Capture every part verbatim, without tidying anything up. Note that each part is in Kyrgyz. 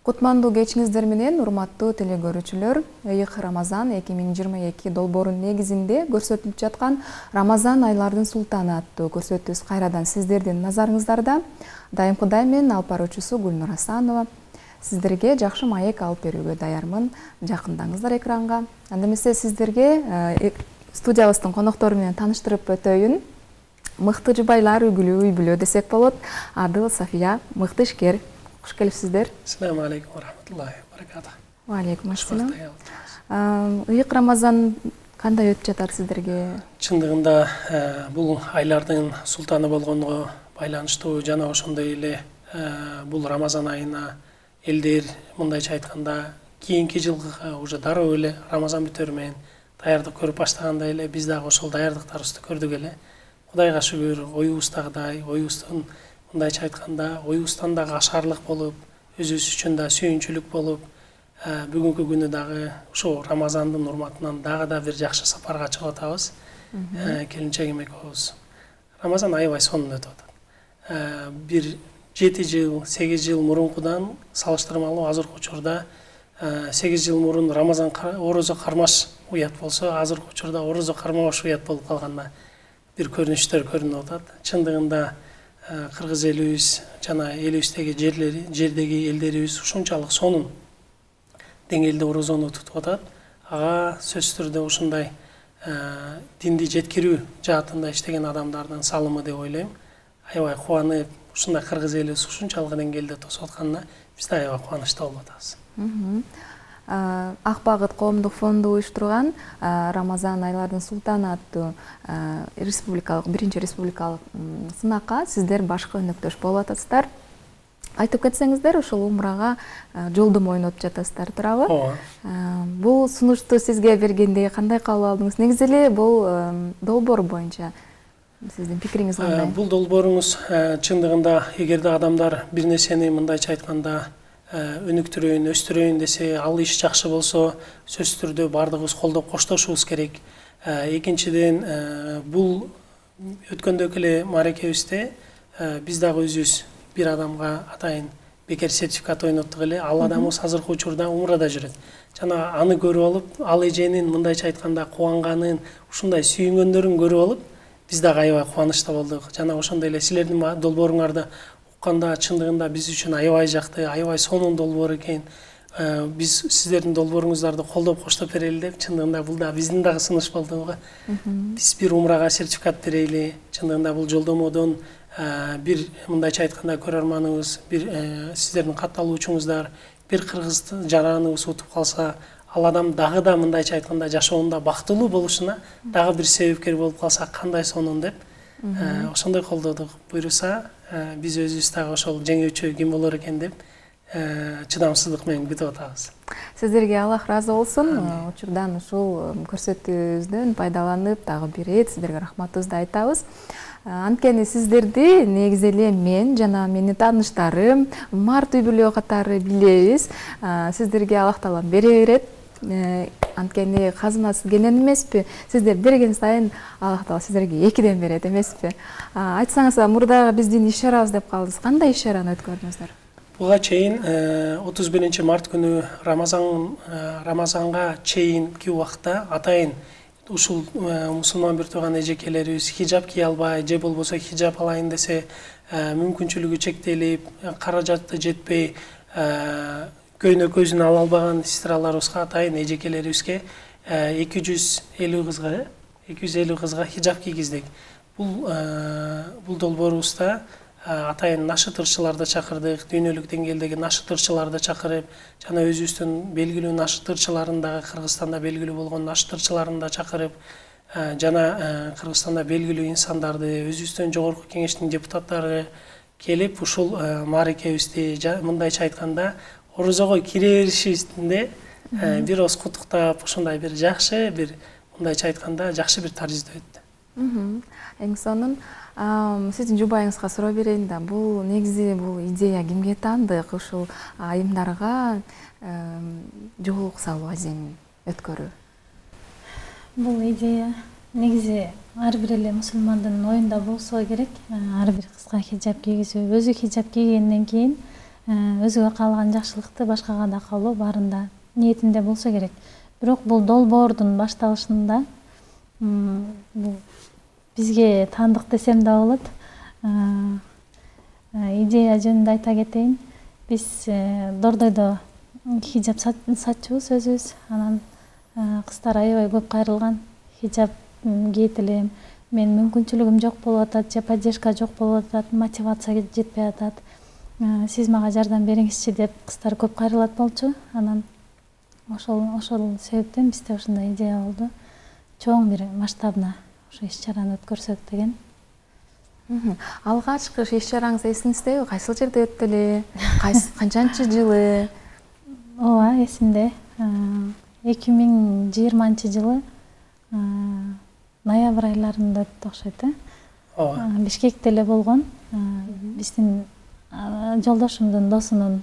Кутмандуу кечиңиздер менен урматтуу телекөрүүчүлөр, Ыйык Рамазан эки миң жыйырма эки долбоорунун негизинде көрсөтүлүп жаткан Рамазан айлардын султаны аттуу көрсөтүүбүз кайрадан сиздердин назарыңыздарда. Дайымкыдай мен алып баруучусу Гүлнур Асанова. Сиздерге жакшы маек алып берүүгө даярмын. Жакындаңыздар экранга. Анда эмесе сиздерге студиябыздын коноктору менен тааныштырып өтөйүн. Мыкты жубайлар үгүлүү үй бүлө десек болот. Адыл, Сафия, мыкты ишкер. Куш келипсиздер. Ассаламу алейкум ва рахматуллахи ва баракатух. Ва алейкум ассалам. Ыйык Рамазан кандай өтүп жатат сиздерге? Чындыгында бул айлардын султаны болгонго байланыштуу жана ошондой эле бул Рамазан айына элдер мындайча айтканда кийинки жылга уже дароо эле Рамазан бүтөрү менен даярдык көрүп баштагандай эле биз дагы ошол даярдыктарыбызды көрдүк эле. Кудайга шүгүр, оюбуздагыдай, оюбуздун мындайча айтканда оюбуздан дагы ашарлык болуп, өзүбүз үчүн да сүйүнчүлүк болуп, бүгүнкү күнү дагы ушул Рамазандын урматынан дагы да бир жакшы сапарга чыгып атабыз. Келинчегим экөөбүз. Рамазан аябай сонун өтүп атат. Бир жети жыл, сегиз жыл мурункудан салыштырмалуу азыркы учурда сегиз жыл мурун Рамазан орозо кармаш уят болсо, азыркы учурда орозо кармабаш уят болуп калганда бир көрүнүштөр көрүнүп атат. Чындыгында кыргыз элибиз жана элибиздеги жерлери, жердеги элдерибиз ушунчалык сонун деңгээлде орозону тутуп атат. Ага сөзсүз түрдө ушундай динди жеткирүү жаатында иштеген адамдардын салымы деп ойлойм. Аябай кубанып, ушундай кыргыз элибиз ушунчалык деңгээлде тосуп атканына биз да аябай кубанычта болуп атабыз. Ак Багыт коомдук фонду уюштурган Рамазан айлардын султаны аттуу республикалык биринчи республикалык сынакка сиздер башкы өнөктөш болуп атасыздар. Айтып кетсеңиздер, ушул умрага жолдомо ойнотуп жатасыздар, туурабы? Ооба. Бул сунушту сизге бергенде кандай кабыл алдыңыз? Негизи эле бул долбоор боюнча сиздин пикириңиз кандай? Бул долбооруңуз чындыгында эгерде адамдар бир нерсени мындайча айтканда өнүктүрөйүн, өстүрөйүн десе, ал иш жакшы болсо, сөзсүз түрдө бардыгыбыз колдоп коштошубуз керек. Экинчиден, бул өткөндөгү эле мааракебизде биз дагы өзүбүз бир адамга атайын бекер сертификат ойноттук эле. Ал адамыбыз азыркы учурда умрада жүрөт. Жана аны көрүп алып, ал эженин мындайча айтканда кубанганын, ушундай сүйүнгөндөрүн көрүп алып, биз дагы аябай кубанычта болдук. Жана ошондой эле силердин долбооруңарды укканда чындыгында биз үчүн аябай жакты, аябай сонун долбоор экен. Биз сиздердин долбооруңуздарды колдоп коштоп берели деп, чындыгында бул да биздин дагы сунуш болду го. Биз бир умрага сертификат берели. Чындыгында бул жолдомодон бир мындайча айтканда көрөрманыбыз, бир сиздердин катталуучуңуздар, бир кыргыз жараныбыз утуп калса, ал адам дагы да мындайча айтканда жашоонда бактылуу болушуна дагы бир себепкер болуп калса кандай сонун деп ошондой колдодук. Буйруса биз өзүбүз дагы ошол жеңүүчү ким болор экен деп чыдамсыздык менен күтүп атабыз. Сиздерге Аллах ыраазы болсун. Учурдан ушул көрсөтүүбүздөн пайдаланып дагы бир ирет сиздерге рахматыбызды айтабыз. Анткени сиздерди негизи эле мен жана менин тааныштарым, март үй бүлө катары билебиз. Сиздерге Аллах Таалам бере берет. Анткени казынасы кенен эмеспи? Сиздер берген сайын Аллах Таала сиздерге экиден берет эмеспи? Айтсаңыз, мурда биздин иш-чарабыз деп калдыңыз. Кандай иш-чараны өткөрдүңүздөр? Буга чейин отуз биринчи март күнү Рамазан Рамазанга чейинки убакта атайын ушул мусулман бир тууган эжекелерибиз хижап кие албай, же болбосо хижап алайын десе мүмкүнчүлүгү чектелип, каражаты жетпей, көйнөкөзүн ала албаган сестраларыбызга, атайын эжекелерибизге эки жүз элүү кызга, эки жүз элүү кызга хижап кийгиздик. Бул бул долбоорубузда атайын нашытырчыларды чакырдык, дүйнөлүк деңгээлдеги нашытырчыларды чакырып, жана өзүбүздүн белгилүү нашытырчыларын дагы Кыргызстанда белгилүү болгон нашытырчыларын да чакырып, жана Кыргызстанда белгилүү инсандарды, өзүбүздүн жогорку кеңештин депутаттары келип, ушул мааракебизди мындайча айтканда орозого кире беришибизде бир оз куттуктап, ушундай бир жакшы, бир мындайча айтканда жакшы бир тарыйзда өттү. Эң сонун. Сиздин жубайыңызга суроо берейин да, бул негизи бул идея кимге таандык? Ушул айымдарга жоолук салуу аземин өткөрүү. Бул идея негизи ар бир эле мусулмандын оюнда болсо керек. Ар бир кызга хижап кийгизүү, өзү хижап кийгенден кийин өзүгө каалаган жакшылыкты башкага да каалоо баарында ниетинде болсо керек. Бирок бул долбоордун башталышында бул бизге таандык десем да болот. Идея жөнүндө айта кетейин. Биз Дордойдо хижап сатчубуз өзүбүз. Анан кыздар аябай көп кайрылган. Хижап кийет элем. Мен мүмкүнчүлүгүм жок болуп атат, же поддержка жок болуп атат, мотивация жетпей атат. Сиз мага жардам бериңизчи деп кыздар көп кайрылат болчу. Анан ошол ошол себептен бизде ушундай идея болду. Чоң бир масштабна ошо иш-чараны өткөрсөк деген. Алгачкы иш чараңыз эсиңиздеби? Кайсыл жерде өттү эле? Канчанчы жылы? Ооба, эсимде. эки миң жыйырманчы жылы ноябрь айларында өттү окшойт, э? Ооба. Бишкекте эле болгон. Биздин жолдошумдун досунун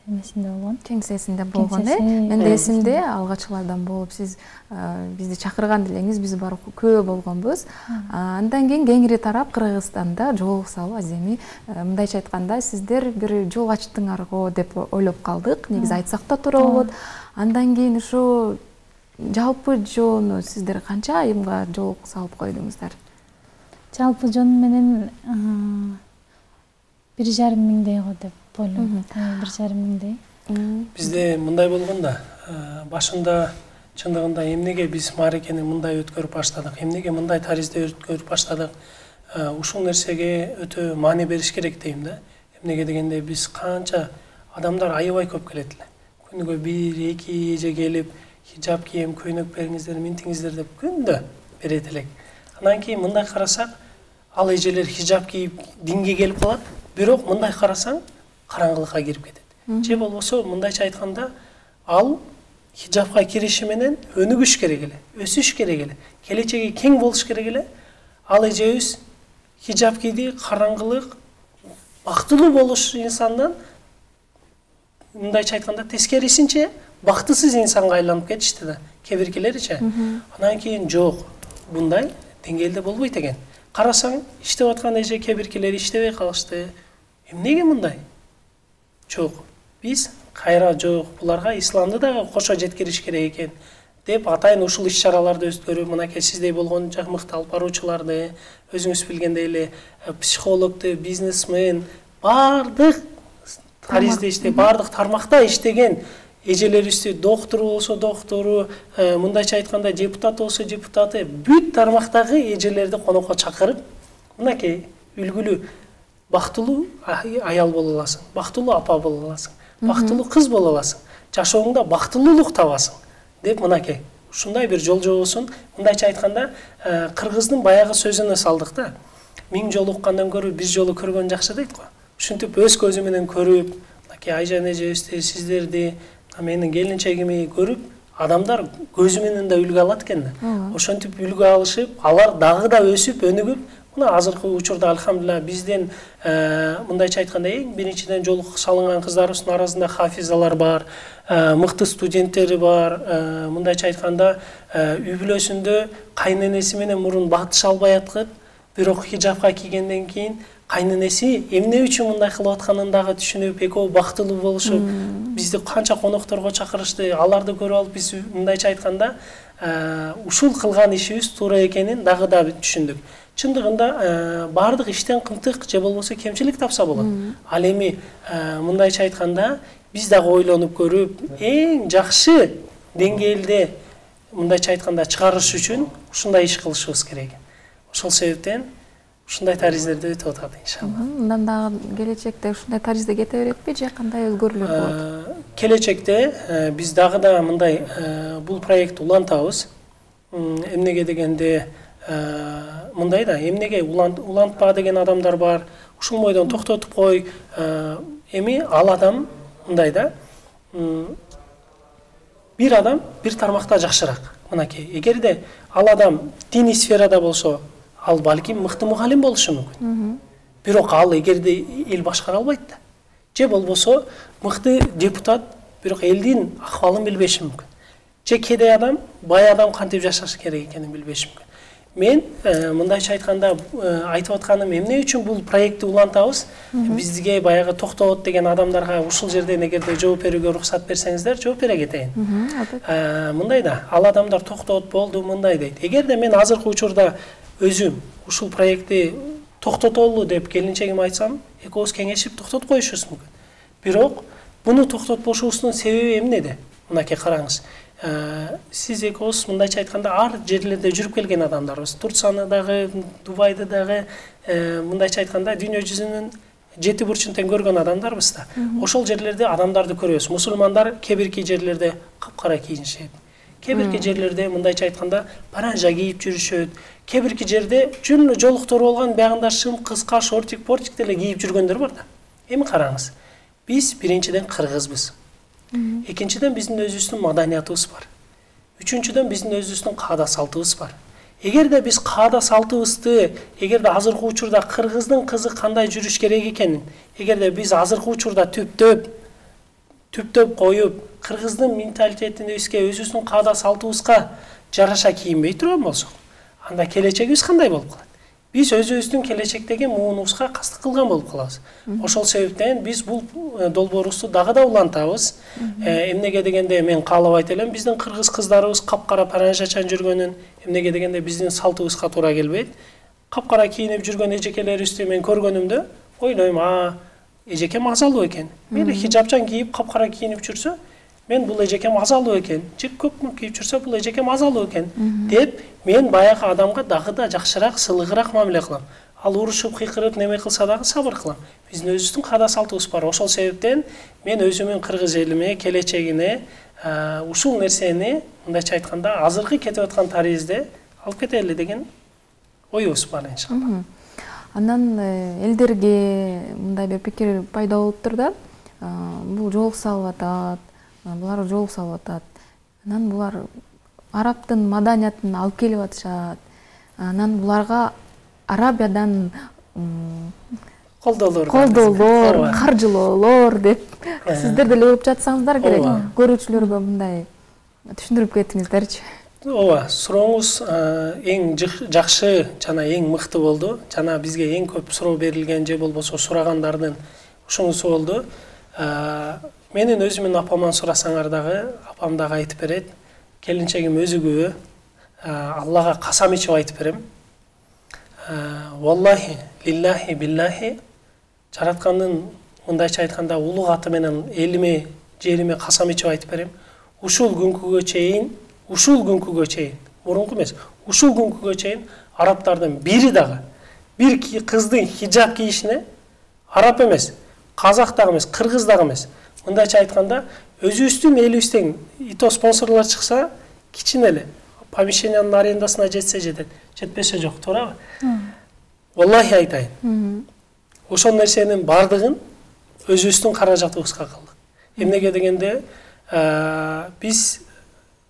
эмесинде болгон. Кеңсесинде болгон, э? Мен да эсимде алгачкылардан болуп сиз бизди чакырган элеңиз, биз барып көп болгонбуз. Андан кийин кеңири тарап Кыргызстанда жолуксалуу аземи мындайча айтканда сиздер бир жол ачтыңар го деп ойлоп калдык. Негизи айтсак да туура болот. Андан кийин ушу жалпы жоону сиздер канча айымга жол салып койдуңуздар? Жалпы жон менен бир жарым миңдей го деп ойлойм. Бир жарым миңдей. Бизде мындай болгон да, башында чындыгында эмнеге биз мааракени мындай өткөрүп баштадык, эмнеге мындай таризде өткөрүп баштадык, ушул нерсеге өтө маани бериш керек дейм да. Эмнеге дегенде биз канча адамдар аябай көп келет эле. Күнүгө бир, эки эже келип, хижап кийем, көйнөк бериңиздер, минтиңиздер деп күндө берет элек. Андан кийин мындай карасак, ал эжелер хижап кийип динге келип калат, бирок мындай карасаң караңгылыкка кирип кетет. Же болбосо мындайча айтканда, ал хижапка кириши менен өнүгүш керек эле, өсүш керек эле, келечеги кең болуш керек эле. Ал эжебиз хижап кийди, караңгылык, бактылуу болуш инсандан мындайча айтканда тескерисинче бактысыз инсанга айланып кетишти да, кээ биркилеричи. Андан кийин жок, мындай деңгээлде болбойт экен. Карасаң, иштеп аткан эже кээ биркилери иштебей калышты. Эмнеге мындай? Жок. Биз кайра жок, буларга исламды дагы кошо жеткириш керек экен деп атайын ушул иш-чараларды өткөрүп, мынакей сиздей болгон мыкты алып баруучуларды, өзүңүз билгендей эле психологду, бизнесмен, бардык таризде иштеп, бардык тармакта иштеген эжелерибизди, доктор болсо доктору, мындайча айтканда депутат болсо депутаты, бүт тармактагы эжелерди конокко чакырып, мынакей үлгүлүү, бактылуу аял боло аласың, бактылуу апа боло аласың, бактылуу кыз боло аласың, жашооңдо бактылуулук табасың деп мынакей ушундай бир жол жобосун, мындайча айтканда кыргыздын баягы сөзүнө салдык да. Миң жолу уккандан көрө бир жолу көргөн жакшы дейт го. Ушинтип өз көзү менен көрүп, мынакей айжан эжебизди, сиздерди, менин келинчегими көрүп, адамдар көзү менен да үлгү алат экен да. Ошентип үлгү алышып, алар дагы да өсүп, өнүгүп, мына азыркы учурда альхамдулилла бизден мындайча айтканда эң биринчиден жолук салынган кыздарыбыздын арасында хафизалар бар, мыкты студенттери бар, мындайча айтканда үй бүлөсүндө кайненеси менен мурун батыша албай аткып, бирок хижапка кийгенден кийин кайненеси эмне үчүн мындай кылып атканын дагы түшүнүп, экөө бактылуу болушуп, бизди канча конокторго чакырышты, аларды көрүп алып биз мындайча айтканда ушул кылган ишибиз туура экенин дагы да түшүндүк. Чындыгында бардык иштен кымтык же болбосо кемчилик тапса болот. Ал эми мындайча айтканда биз дагы ойлонуп көрүп, эң жакшы деңгээлде мындайча айтканда чыгарыш үчүн ушундай иш кылышыбыз керек. Ошол себептен ушундай тариздерде өтүп атат иншалла. Мындан дагы келечекте ушундай таризде кете беретпи же кандай өзгөрүүлөр болот? Келечекте биз дагы да мындай бул проектти улантабыз. Эмнеге дегенде мындай да, эмнеге улантпа деген адамдар бар. Ушул бойдон токтотуп кой. Эми ал адам мындай да, бир адам бир тармакта жакшыраак. Мынакей, эгерде ал адам диний сферада болсо, ал балким мыкты мугалим болушу мүмкүн. Бирок ал эгерде эл башкара албайт да. Же болбосо мыкты депутат, бирок элдин акыбалын билбеши мүмкүн. Же кедей адам, бай адам кантип жашаш керек экенин билбеши мүмкүн. мен мындайча айтканда айтып атканым эмне үчүн бул проектти улантабыз? Бизге баягы токтоот деген адамдарга ушул жерден эгерде жооп берүүгө уруксат берсеңиздер, жооп бере кетейин. Мындай да, ал адамдар токтоот болду, мындай дейт. Эгерде мен азыркы учурда өзүм ушул проектти токтотолу деп келинчегиме айтсам, экөөбүз кеңешип токтотуп коюшубуз мүмкүн. Бирок буну токтотпошубуздун себеби эмнеде? Мынакей караңыз. Сиз экөөбүз мындайча айтканда ар жерлерде жүрүп келген адамдарбыз. Турцияны дагы, Дубайды дагы, мындайча айтканда дүйнө жүзүнүн жети бурчун тең көргөн адамдарбыз да. Ошол жерлерде адамдарды көрөбүз. Мусулмандар кээ бирки жерлерде капкара кийинишет. Кээ бирки жерлерде мындайча айтканда паранжа кийип жүрүшөт. Кээ бирки жерде жөн жолуктор болгон баягында шым, кыска, шортик, портик деле кийип жүргөндөр бар да. Эми караңыз. Биз биринчиден кыргызбыз. Экинчиден биздин өзүбүздүн маданиятыбыз бар. Үчүнчүдөн биздин өзүбүздүн каада салтыбыз бар. Эгерде биз каада салтыбызды, эгерде азыркы учурда кыргыздын кызы кандай жүрүш керек экенин, эгерде биз азыркы учурда түптөп, түптөп коюп, кыргыздын менталитетибизге, өзүбүздүн каада салтыбызга жараша кийинбей турган болсок, анда келечегибиз кандай болуп калат? Биз өзүбүздүн келечектеги муунубузга кастык кылган болуп калабыз. Ошол себептен биз бул долбоорубузду дагы да улантабыз. Эмнеге дегенде мен каалабайт элем биздин кыргыз кыздарыбыз капкара паранжачан жүргөнүн, эмнеге дегенде биздин салтыбызга туура келбейт. Капкара кийинип жүргөн эжекелерибизди мен көргөнүмдө ойлойм, а эжекем азалуу экен. Мейли хижапчан кийип капкара кийинип жүрсө, мен бул эжекем азалуу экен. Жек көк кийип жүрсө, бул эжекем азалуу экен деп мен баягы адамга дагы да жакшыраак, сылыгыраак мамиле кылам. Ал урушуп, кыйкырып, неме кылса дагы сабыр кылам. Биздин өзүбүздүн каада салтыбыз бар. Ошол себептен мен өзүмүн кыргыз элиме, келечегине ушул нерсени мындайча айтканда азыркы кетип аткан тарибизде алып кетели деген оюбуз бар иншалла. Андан элдерге мындай бир пикир пайда болуптур да. Бул жол салып атат, булар жол салып атат. Анан булар арабтын маданиятын алып келип атышат. Анан буларга Арабиядан колдоолор, колдоолор, каржылоолор деп сиздер деле угуп жатсаңыздар керек. Көрүүчүлөргө мындай түшүндүрүп кетиңиздерчи. Ооба, сурооңуз эң жакшы жана эң мыкты болду. Жана бизге эң көп суроо берилген же болбосо сурагандардын ушунусу болду. Менин өзүмдүн апаман сурасаңар дагы, апам дагы айтып берет. Келинчегим өзү күбө. Аллага касам ичип айтып берем. Валлахи, лиллахи, биллахи, жараткандын мындайча айтканда улуг аты менен элиме, жериме касам ичип айтып берем. Ушул күнкүгө чейин, ушул күнкүгө чейин, мурунку эмес, ушул күнкүгө чейин арабтардын бири дагы бир кыздын хижап кийишине араб эмес, казак дагы эмес, кыргыз дагы эмес. Мындайча айтканда өзүбүздүн элибизден ито спонсорлор чыкса, кичине эле помещениянын арендасына жетсе жетет, жетпесе жок, туурабы? Валлахи айтайын. Ошол нерсенин бардыгын өзүбүздүн каражатыбызга кылдык. Эмнеге дегенде биз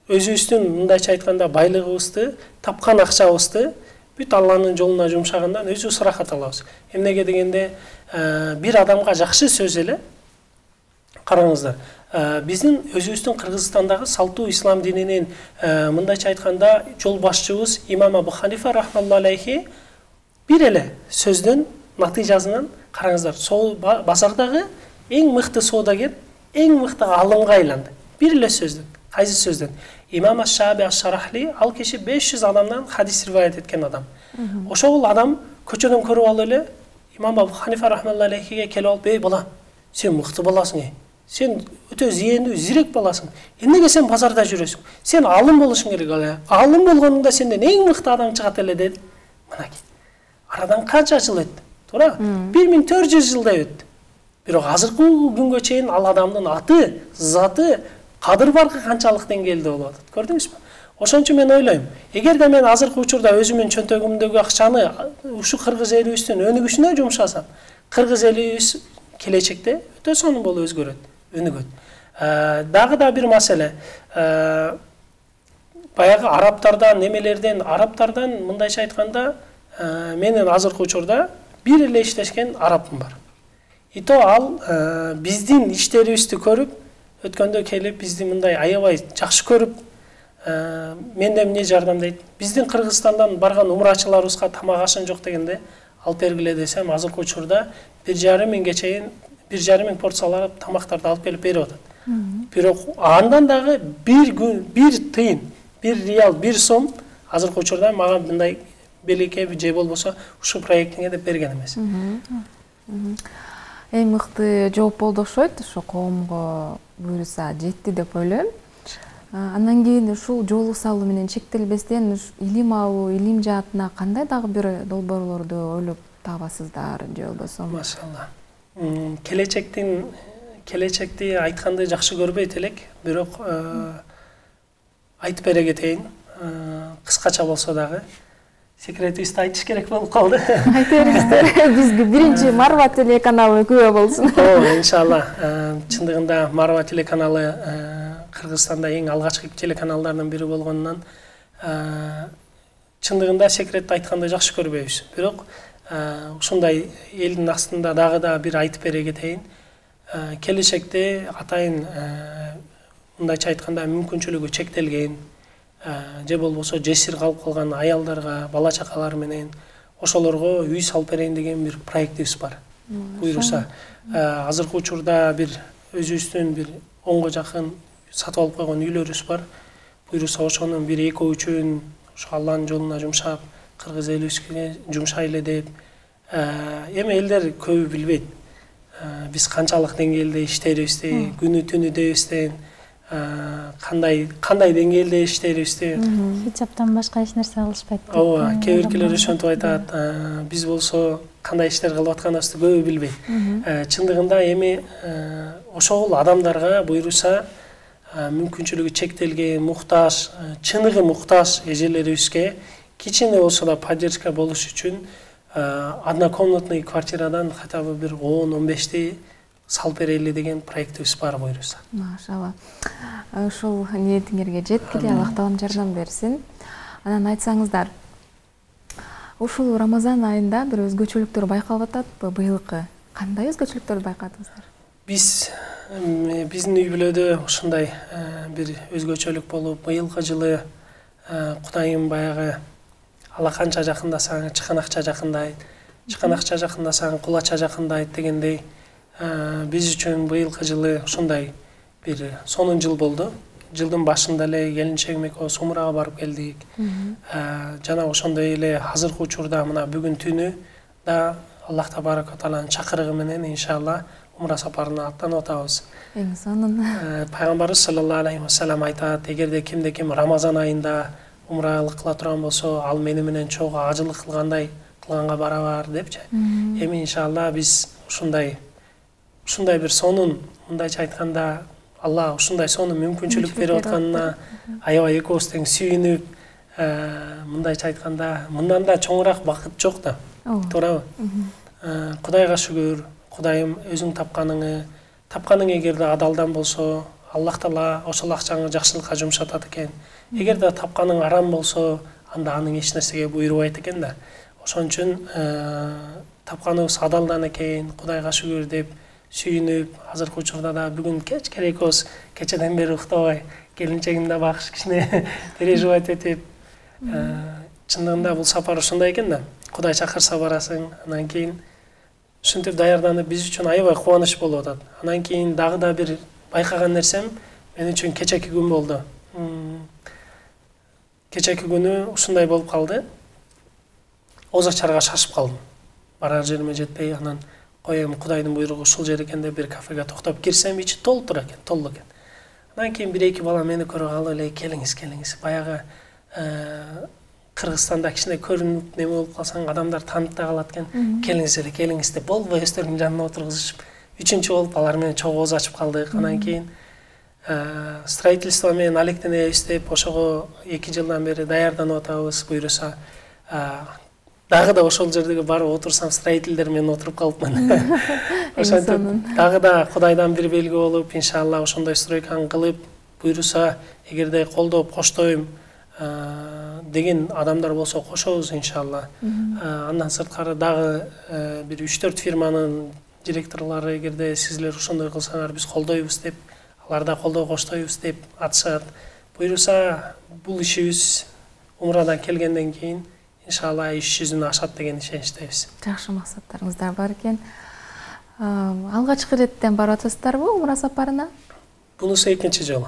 өзүбүздүн мындайча айтканда байлыгыбызды, тапкан акчабызды бүт Алланын жолуна жумшагандан өзүбүз ырахат алабыз. Эмнеге дегенде бир адамга жакшы сөз эле, караңыздар, биздин өзүбүздүн Кыргызстандагы салтуу ислам дининин мындайча айтканда жол башчыбыз имам Абу Ханифа рахмаллаху алейхи бир эле сөздөн натыйжасынан караңыздар, сол базардагы эң мыкты соодагер, эң мыкты алымга айланды. Бир эле сөздөн, кайсы сөздөн? Имам Аш-Шааби Аш-Шарахли, ал киши беш жүз адамдан хадис риваят эткен адам. Ошол адам көчөдөн көрүп алып эле имам Абу Ханифа рахмаллаху алейхиге келип алып, "Эй бала, сен мыкты баласың, ey. Сен өтө зиендүү, зирек баласың. Эмнеге сен базарда жүрөсүң? Сен алым болушуң керек эле. Алым болгонуңда сенден эң мыкты адам чыгат эле" деди. Мынакей. Арадан канча жыл өттү? Туура? бир миң төрт жүз жылдай өттү. Бирок азыркы күнгө чейин ал адамдын аты, заты, кадыр баркы канчалык деңгээлде болуп атат. Көрдүңүзбү? Ошон үчүн мен ойлойм, эгерде мен азыркы учурда өзүмдүн чөнтөгүмдөгү акчаны ушу кыргыз элибиздин өнүгүшүнө жумшасам, кыргыз элибиз келечекте өтө сонун болуп өзгөрөт, өнүгөт. Дагы да бир маселе, баягы арабтардан, немелерден, арабтардан мындайча айтканда, менин азыркы учурда бир эле иштешкен арабым бар. Ито ал биздин иштерибизди көрүп, өткөндө келип бизди мындай аябай жакшы көрүп, менде эмне жардамдайт? Биздин Кыргызстандан барган умрачыларыбызга тамак ашын жок дегенде алып бергиле десем, азыркы учурда бир жарым миңге чейин бир жарым миң порциялап тамактарды алып келип берип атат. Бирок андан дагы бир күн, бир тыйын, бир реал, бир сом азыркы учурда мага мындай белекке же болбосо ушул проектиңе деп берген эмес. Эң мыкты жооп болду окшойт, ошо коомго буюрса жетти деп ойлойм. Андан кийин ушул жоолук салуу менен чектелбестен илим алуу, илим жаатына кандай дагы бир долбоорлорду ойлоп табасыздар же болбосо? Машалла. Келечектин келечекти айтканды жакшы көрбөйт элек, бирок айтып бере кетейин. Кыскача болсо дагы секретибизди айтыш керек болуп калды. Айта бериңиздер. Бизге биринчи Марва телеканалы күбө болсун. Ооба, иншалла. Чындыгында Марва телеканалы Кыргызстанда эң алгачкы телеканалдардын бири болгондон чындыгында секретти айтканды жакшы көрбөйбүз. Бирок ушундай элдин астында дагы да бир айтып бере кетейин. Келечекте атайын мындайча айтканда мүмкүнчүлүгү чектелген же болбосо жесир калып калган аялдарга, бала чакалар менен ошолорго үй салып берейин деген бир проектибиз бар. Буйруса, азыркы учурда бир өзүбүздүн бир онго жакын сатып алып койгон үйлөрүбүз бар. Буйруса ошонун бир экөө үчүн ошо Алланын жолуна жумшап, кыргыз элибизге жумшайлы деп. Эми элдер көбү билбейт. Биз канчалык деңгээлде иштерибизди, күнү түнү дебестен кандай кандай деңгээлде иштерибизди. Хиджаптан башка эч нерсе алышпайт. Ооба, кээ биркилер ошентип айтат. Биз болсо кандай иштер кылып атканыбызды көбү билбейт. Чындыгында эми ошол адамдарга буйруса мүмкүнчүлүгү чектелген, муктаж, чыныгы муктаж эжелерибизге кичине болсо да поддержка болуш үчүн однокомнатный квартирадан хотя бы бир он он бешти салып берели деген проектибиз бар буйруса. Машалла. Ушул ниетиңерге жеткиле, Аллах таалам жардам берсин. Анан айтсаңыздар, ушул Рамазан айында бир өзгөчөлүктөр байкалып ататпы быйылкы? Кандай өзгөчөлүктөрдү байкадыңыздар? Биз биздин үй бүлөдө ушундай бир өзгөчөлүк болуп, быйылкы жылы Кудайым баягы алаканча жакындасаң чыканакча жакындайт, чыканакча жакындасаң кулача жакындайт дегендей биз үчүн быйылкы жылы ушундай бир сонун жыл болду. Жылдын башында эле келинчегим экөөбүз умрага барып келдик. Жана ошондой эле азыркы учурда мына бүгүн түнү да Аллах табарак ва тааланын чакырыгы менен иншалла умра сапарына аттанып атабыз. Эң сонун. Пайгамбарыбыз саллаллаху алейхи ва саллям айтат, эгерде кимде ким Рамазан айында умралык кыла турган болсо, ал мени менен чогуу ажылык кылгандай кылганга барабар депчи. Эми иншалла биз ушундай ушундай бир сонун, мындайча айтканда, Алла ушундай сонун мүмкүнчүлүк берип атканына аябай экөөбүз тең сүйүнүп, мындайча айтканда, мындан да чоңураак бакыт жок да. Туурабы? Кудайга шүгүр, Кудайым өзүң тапканыңы, тапканың эгерде адалдан болсо, Аллах таала ошол акчаңы жакшылыкка жумшатат экен. Эгерде тапканың арам болсо, анда анын эч нерсеге буйрубайт экен да. Ошон үчүн тапканыбыз адалдан экен, Кудайга шүгүр деп сүйүнүп, азыркы учурда да бүгүн кечке экөөбүз кечеден бери уктабай, келинчегимди багыш кичине переживать этип, чындыгында бул сапар ушундай экен да. Кудай чакырса барасың, анан кийин ушинтип даярданып биз үчүн аябай кубаныч болуп атат. Анан кийин дагы да бир байкаган нерсем мен үчүн кечеки күн болду. Кечеки күнү ушундай болуп калды. Оз ачарга шашып калдым. Барар жериме жетпей, анан коем Кудайдын буйругу ушул жер экен деп бир кафеге токтоп кирсем, ичи толуп тур экен, толук экен. Анан кийин бир эки бала мени көрүп алып эле келиңиз, келиңиз. Баягы Кыргызстанда кичине көрүнүп неме болуп калсаң, адамдар таанып да калат экен. Келиңиз эле, келиңиз деп болбой өздөрүнүн жанына отургузушуп, үчүнчү болуп алар менен чогуу ооз ачып калдык. Анан кийин строительство менен алектенебиз деп ошого эки жылдан бери даярданып атабыз. Буйруса дагы да ошол жердеги барып отурсам, строительдер менен отуруп калыпмын. Ошентип дагы да Кудайдан бир белги болуп, иншалла ошондой стройканы кылып, буйруса эгерде колдоп коштойм деген адамдар болсо кошобуз иншалла. Андан сырткары дагы бир үч төрт фирманын директорлору эгерде сизлер ошондой кылсаңар биз колдойбуз деп, алар да колдоо коштойбуз деп атышат. буюрса бул ишибиз умрадан келгенден кийин иншалла иш жүзүнө ашат деген ишеничтебиз. Жакшы максаттарыңыздар бар экен. Алгачкы иреттен барып атасыздарбы умра сапарына? Бунусу экинчи жолу.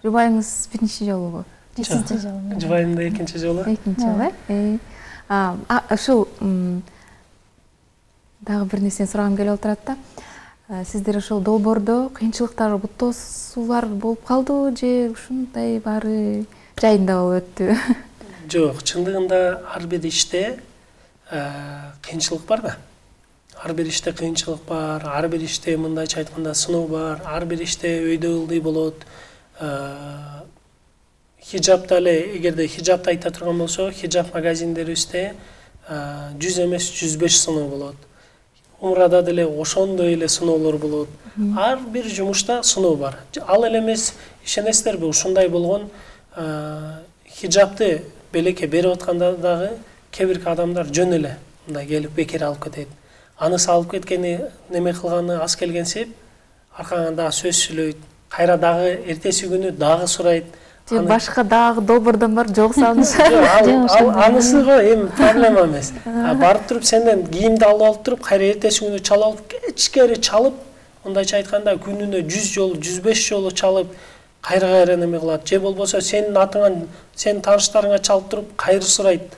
Жубайыңыз биринчи жолубу? Экинчи жолу. Жубайым да экинчи жолу. Экинчи жолу, э? Ушул дагы бир нерсени сурагым келип отурат да. Сиздер ошол долбоордо кыйынчылыктар, буттоосуулар болуп калдыбы же ушундай баары жайында болуп өттү? Жок, чындыгында ар бир иште кыйынчылык бар да. Ар бир иште кыйынчылык бар, ар бир иште мындайча айтканда сыноо бар, ар бир иште өйдө ылдый болот. Хижапта эле, эгерде хижапты айта турган болсо, хижап магазиндерибизде жүз эмес жүз беш сыноо болот. Умрада деле ошондой эле сыноолор болот. Ар бир жумушта сыноо бар. Ал эле эмес, ишенесиздерби, ушундай болгон хижапты белекке берип атканда дагы кээ бир адамдар жөн эле мындай келип бекер алып кетет. Аны салып кеткени, неме кылганы аз келгенсип, аркаңан дагы сөз сүйлөйт. Кайра дагы эртеси күнү дагы сурайт. Же башка дагы долбоордон бар жок салынса? Ал анысы го эми проблема эмес. Барып туруп сенден кийимди алып алып туруп, кайра эртеси күнү чала алып, кечкери чалып, мындайча айтканда күнүнө жүз жолу, жүз беш жолу чалып, кайра кайра неме кылат. Же болбосо сенин атыңан, сенин тааныштарыңа чалып туруп, кайры сурайт.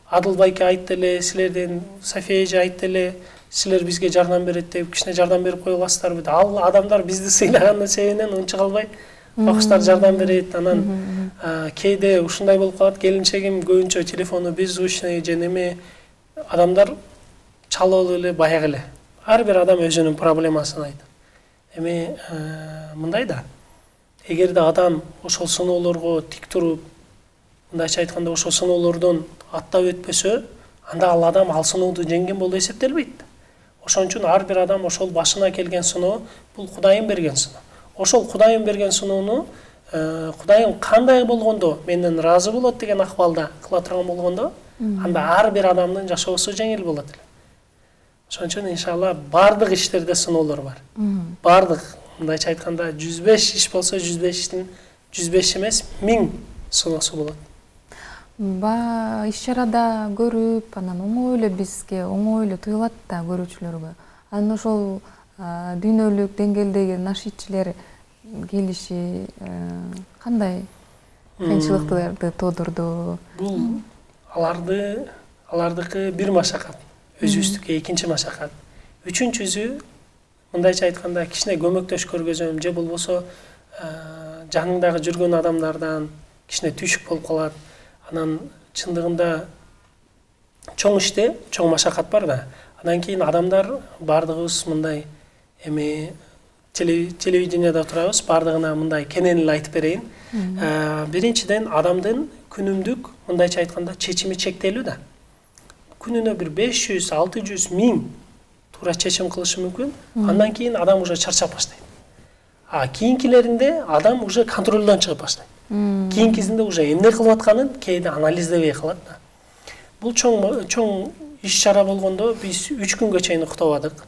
Адыл байке айтты эле, силерден София эже айтты эле, силер бизге жардам берет деп, кичине жардам берип кое аласыздарбы? Ал адамдар бизди сыйлагандын себебинен унча калбай бакыштар жардам берет. Анан кээде ушундай болуп калат, келинчегим көбүнчө телефону беззвучный же неме, адамдар чалып эле баягы эле. Ар бир адам өзүнүн проблемасын айтат. Эми мындай да, эгерде адам ошол сыноолорго тик туруп, мындайча айтканда ошол сыноолордон аттап өтпөсө, анда ал адам ал сыноодо жеңген болуп эсептелбейт. Ошон үчүн ар бир адам ошол башына келген сыноо бул Кудайым берген сыноо. Ошол Кудайым берген сыноону Кудайым кандай болгондо менден ыраазы болот деген акыбалда кыла турган болгондо, анда ар бир адамдын жашоосу жеңил болот эле. Ошон үчүн иншалла бардык иштерде сыноолор бар. Бардык, мындайча айтканда жүз беш иш болсо, жүз бештин жүз беш эмес, миң сыноосу болот. Ба иш чарада көрүп, анан оңой эле бизге оңой эле туюлат да көрүүчүлөргө. Анан ошол дүйнөлүк деңгээлдеги нашидчилер келиши кандай кыйынчылыктарды тоодурду? Бул аларды алардыкы бир машакат, өзүбүздүкү экинчи машакат. Үчүнчүсү мындайча айтканда кичине көмөктөш көргөзөм, же болбосо жаныңдагы жүргөн адамдардан кичине түйшүк болуп калат. Анан чындыгында чоң иште чоң машакат бар да. Анан кийин адамдар бардыгыбыз мындай эми телевиденияда турабыз, бардыгына мындай кенен эле айтып берейин. Биринчиден адамдын күнүмдүк мындайча айтканда чечими чектелүү да. Күнүнө бир беш жүз, алты жүз, миң туура чечим кылышы мүмкүн. Андан кийин адам уже чарчап баштайт. А кийинкилеринде адам уже контролдон чыгып баштайт. Кийинкисинде уже эмне кылып атканын кээде анализдебей калат да. Бул чоң чоң иш чара болгондо биз үч күнгө чейин уктабадык.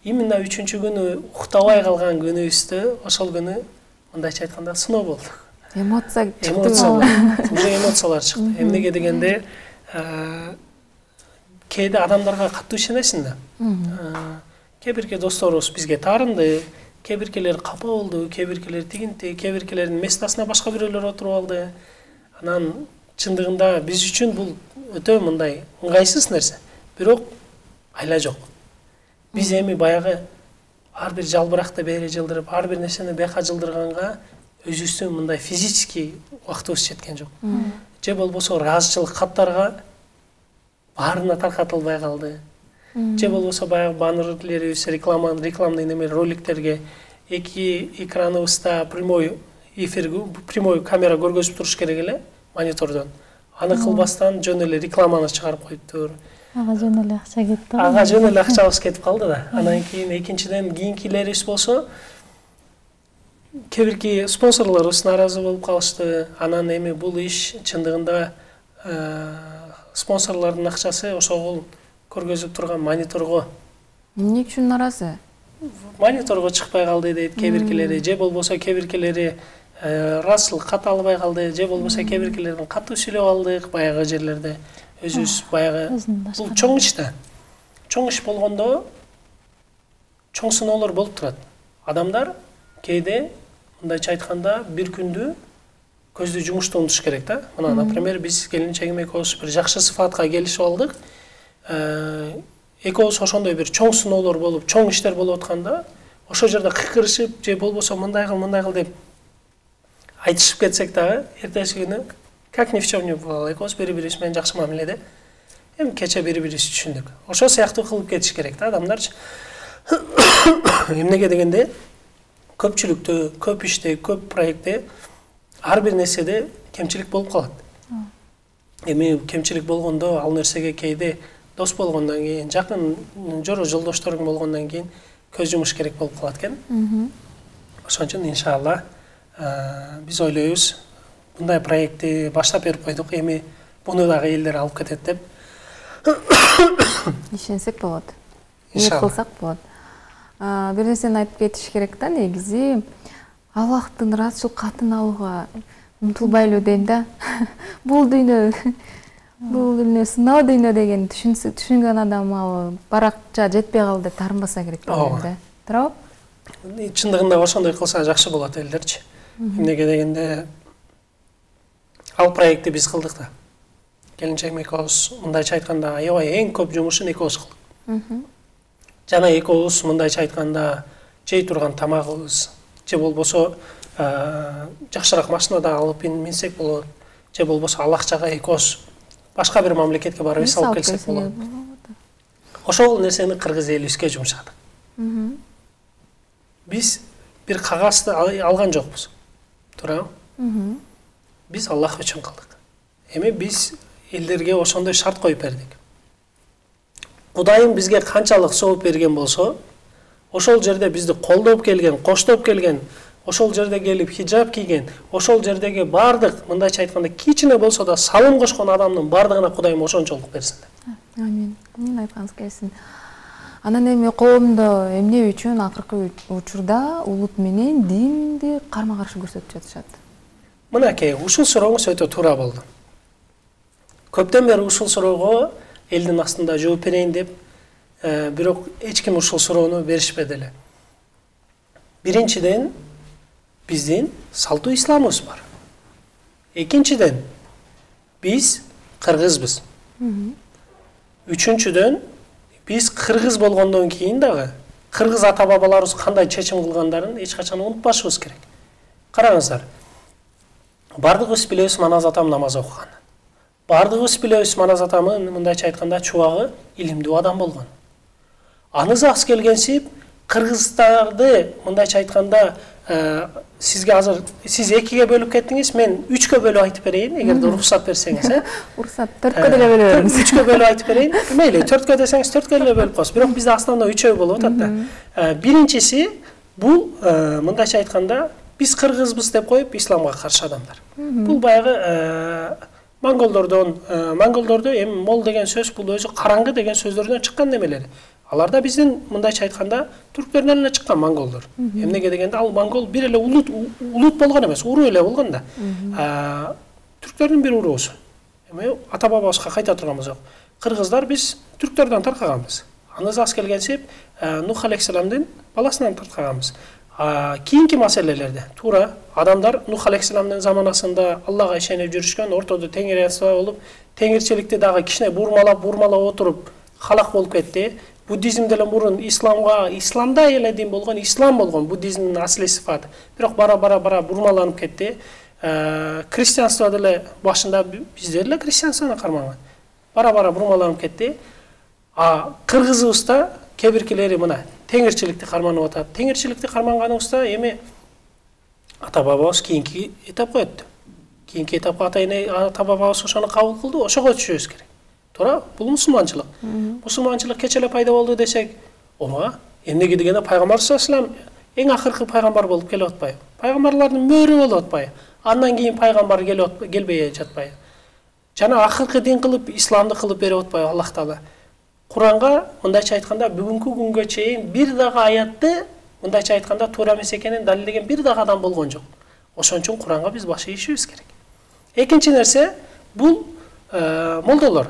Именно үчүнчү күнү уктабай калган күнүбүздө ошол күнү мындайча айтканда сыноо болду. Эмоция чыкты. Уже эмоциялар чыкты. Эмнеге дегенде кээде адамдарга катуу ишенесиң да. Кээ бирки досторубуз бизге таарынды, кээ биркелер капа болду, кээ биркелер тигинти, кээ биркелердин местасына башка бирөөлөр отуруп алды. Анан чындыгында биз үчүн бул өтө мындай ыңгайсыз нерсе. Бирок айла жок. Биз эми баягы ар бир жалбыракты бери жылдырып, ар бир нерсени бияка жылдырганга өзүбүздүн мындай физический убактыбыз жеткен жок. Же болбосо ыраазычылык каттарга баарына таркатылбай калды. Же болбосо баягы баннерлерибиз, реклама, рекламный неме роликтерге эки экраныбызда прямой эфир, прямой камера көргөзүп туруш керек эле монитордон. Аны кылбастан жөн эле рекламаны чыгарып коюптур. Ага жөн эле акча кетти. Ага жөн эле акчабыз кетип калды да. Анан кийин экинчиден кийинкилерибиз болсо кээ бирки спонсорлорубуз нааразы болуп калышты. Анан эми бул иш чындыгында спонсорлордун акчасы ошол көргөзүп турган мониторго. Эмне үчүн нааразы? Мониторго чыкпай калды дейт кээ биркилери, же болбосо кээ биркилери ырасчылык ката албай калды, же болбосо кээ биркилерден катуу сүйлөп алдык баягы жерлерде. Өзүбүз баягы бул чоң иш да. Чоң иш болгондо чоң сыноолор болуп турат. Адамдар кээде мындайча айтканда бир күндү көздү жумушту унутуш керек да. Мына, например, биз келинчегим экөөбүз бир жакшы сыфатка келишип алдык. Экөөбүз ошондой бир чоң сыноолор болуп, чоң иштер болуп атканда, ошол жерде кыйкырышып, же болбосо мындай кыл, мындай кыл деп айтышып кетсек дагы, эртеси күнү как ни в чем не бывало, экөөбүз бири-бирибиз менен жакшы мамиледе. Эми кече бири-бирибизди түшүндүк. Ошол сыяктуу кылып кетиш керек да адамдарчы. Эмнеге дегенде, көпчүлүктө, көп иште, көп проектте ар бир нерседе кемчилик болуп калат. Эми кемчилик болгондо ал нерсеге кээде дос болгондон кийин, жакын жоро жолдошторуң болгондон кийин көз жумуш керек болуп калат экен. Ошон үчүн иншалла биз ойлойбуз, мындай проектти баштап берип койдук, эми буну дагы элдер алып кетет деп. Ишенсек болот. Ниет кылсак болот. Бир нерсени айтып кетиш керек да, негизи Аллахтын ырасчыл катын алууга умтулбайлы дейм да. Бул дүйнө, бул дүйнө сыноо дүйнө деген түшүнгөн адам ал баракча жетпей калды деп таарынбаса керек дейм да. Туурабы? Чындыгында ошондой кылса жакшы болот элдерчи. Эмнеге дегенде ал проектти биз кылдык да. Келинчегим экөөбүз мындайча айтканда аябай эң көп жумушун экөөбүз кылдык. Жана экөөбүз мындайча айтканда жей турган тамагыбыз, же болбосо жакшыраак машинада алып минсек болот, же болбосо ал акчага экөөбүз башка бир мамлекетке барып эс алып келсек болот. Ошол нерсени кыргыз элибизге жумшадык. Биз бир кагазды алган жокпуз. Туурабы? Биз Аллах үчүн кылдык. Эми биз элдерге ошондой шарт коюп бердик. Кудайым бизге канчалык сооп берген болсо, ошол жерде бизди колдоп келген, коштоп келген, ошол жерде келип хиджаб кийген, ошол жердеги бардык, мындайча айтканда, кичине болсо да салым кошкон адамдын бардыгына Кудайым ошончолук берсин деп. Амин. Амин айтканыңыз келсин. Анан эми коомдо эмне үчүн акыркы учурда улут менен динди карма-каршы көрсөтүп жатышат? Мынакей, ушул сурооңуз өтө туура болду. Көптөн бери ушул суроого элдин астында жооп берейин деп, бирок эч ким ушул суроону беришпеди эле. Биринчиден, биздин салтуу исламыбыз бар. Экинчиден, биз кыргызбыз. Үчүнчүдөн, биз кыргыз болгондон кийин дагы кыргыз ата-бабаларыбыз кандай чечим кылгандарын эч качан унутпашыбыз керек. Караңыздар. Бардыгыбыз билебиз Маназ атам намаз окуган. Бардыгыбыз билебиз Маназ атамын мындайча айтканда чубагы илимдүү адам болгон. Анысы аз келгенсип кыргыздарды мындайча айтканда сизге азыр сиз экиге бөлүп кеттиңиз, мен үчкө бөлүп айтып берейин, эгерде уруксат берсеңиз, э? Уруксат, төрткө деле бөлүп бериңиз. үчкө бөлүп айтып берейин. Мейли, төрткө десеңиз төрткө деле бөлүп коесуз. Бирок бизде основной үчөө болуп атат да. Биринчиси бул мындайча айтканда биз кыргызбыз деп коюп исламга каршы адамдар. Бул баягы монголдордон, монголдордо эми мол деген сөз бул өзү караңгы деген сөздөрдөн чыккан немелер. Алар да биздин мындайча айтканда түрктөрдөн эле чыккан монголдор. Эмнеге дегенде ал монгол бир эле улут улут болгон эмес, уруу эле болгон да. Түрктөрдүн бир уруусу. Эми ата-бабабызга кайта турганбыз жок. Кыргыздар биз түрктөрдөн таркаганбыз. Анысы аз келгенсип Нух алейхиссаламдын баласынан таркаганбыз. Кийинки маселелерде туура адамдар Нух алейхиссаламдын заманасында Аллага ишенип жүрүшкөн, ортодо теңирчилик болуп, теңирчиликти дагы кичине бурмалап, бурмалап отуруп халак болуп кетти. Буддизм деле мурун исламга, исламда эле дин болгон, ислам болгон, буддизмдин асли сыфаты. Бирок бара-бара бара бурмаланып кетти. Христианство деле башында биздер эле христианствону карманган. Бара-бара бурмаланып кетти. А кыргызыбызда кээ биркилери мына теңирчиликти карманып атат. Теңирчиликти карманганыбызда эми ата-бабабыз кийинки этапка өттү. Кийинки этапка ата-бабабыз ошону кабыл кылды, ошого түшүбүз керек. Туура, бул мусулманчылык. Мусулманчылык кече эле пайда болду десек, ооба, эмнеге дегенде пайгамбар саллаллаху алейхи ва саллям эң акыркы пайгамбар болуп келип атпайбы? Пайгамбарлардын мөөрү болуп атпайбы? Андан кийин пайгамбар келип келбей жатпайбы? Жана акыркы дин кылып, исламды кылып берип атпайбы Аллах Таала? Куранга мындайча айтканда бүгүнкү күнгө чейин бир дагы аятты мындайча айтканда туура эмес экенин далилдеген бир дагы адам болгон жок. Ошон үчүн Куранга биз баш ийишибиз керек. Экинчи нерсе бул молдолор.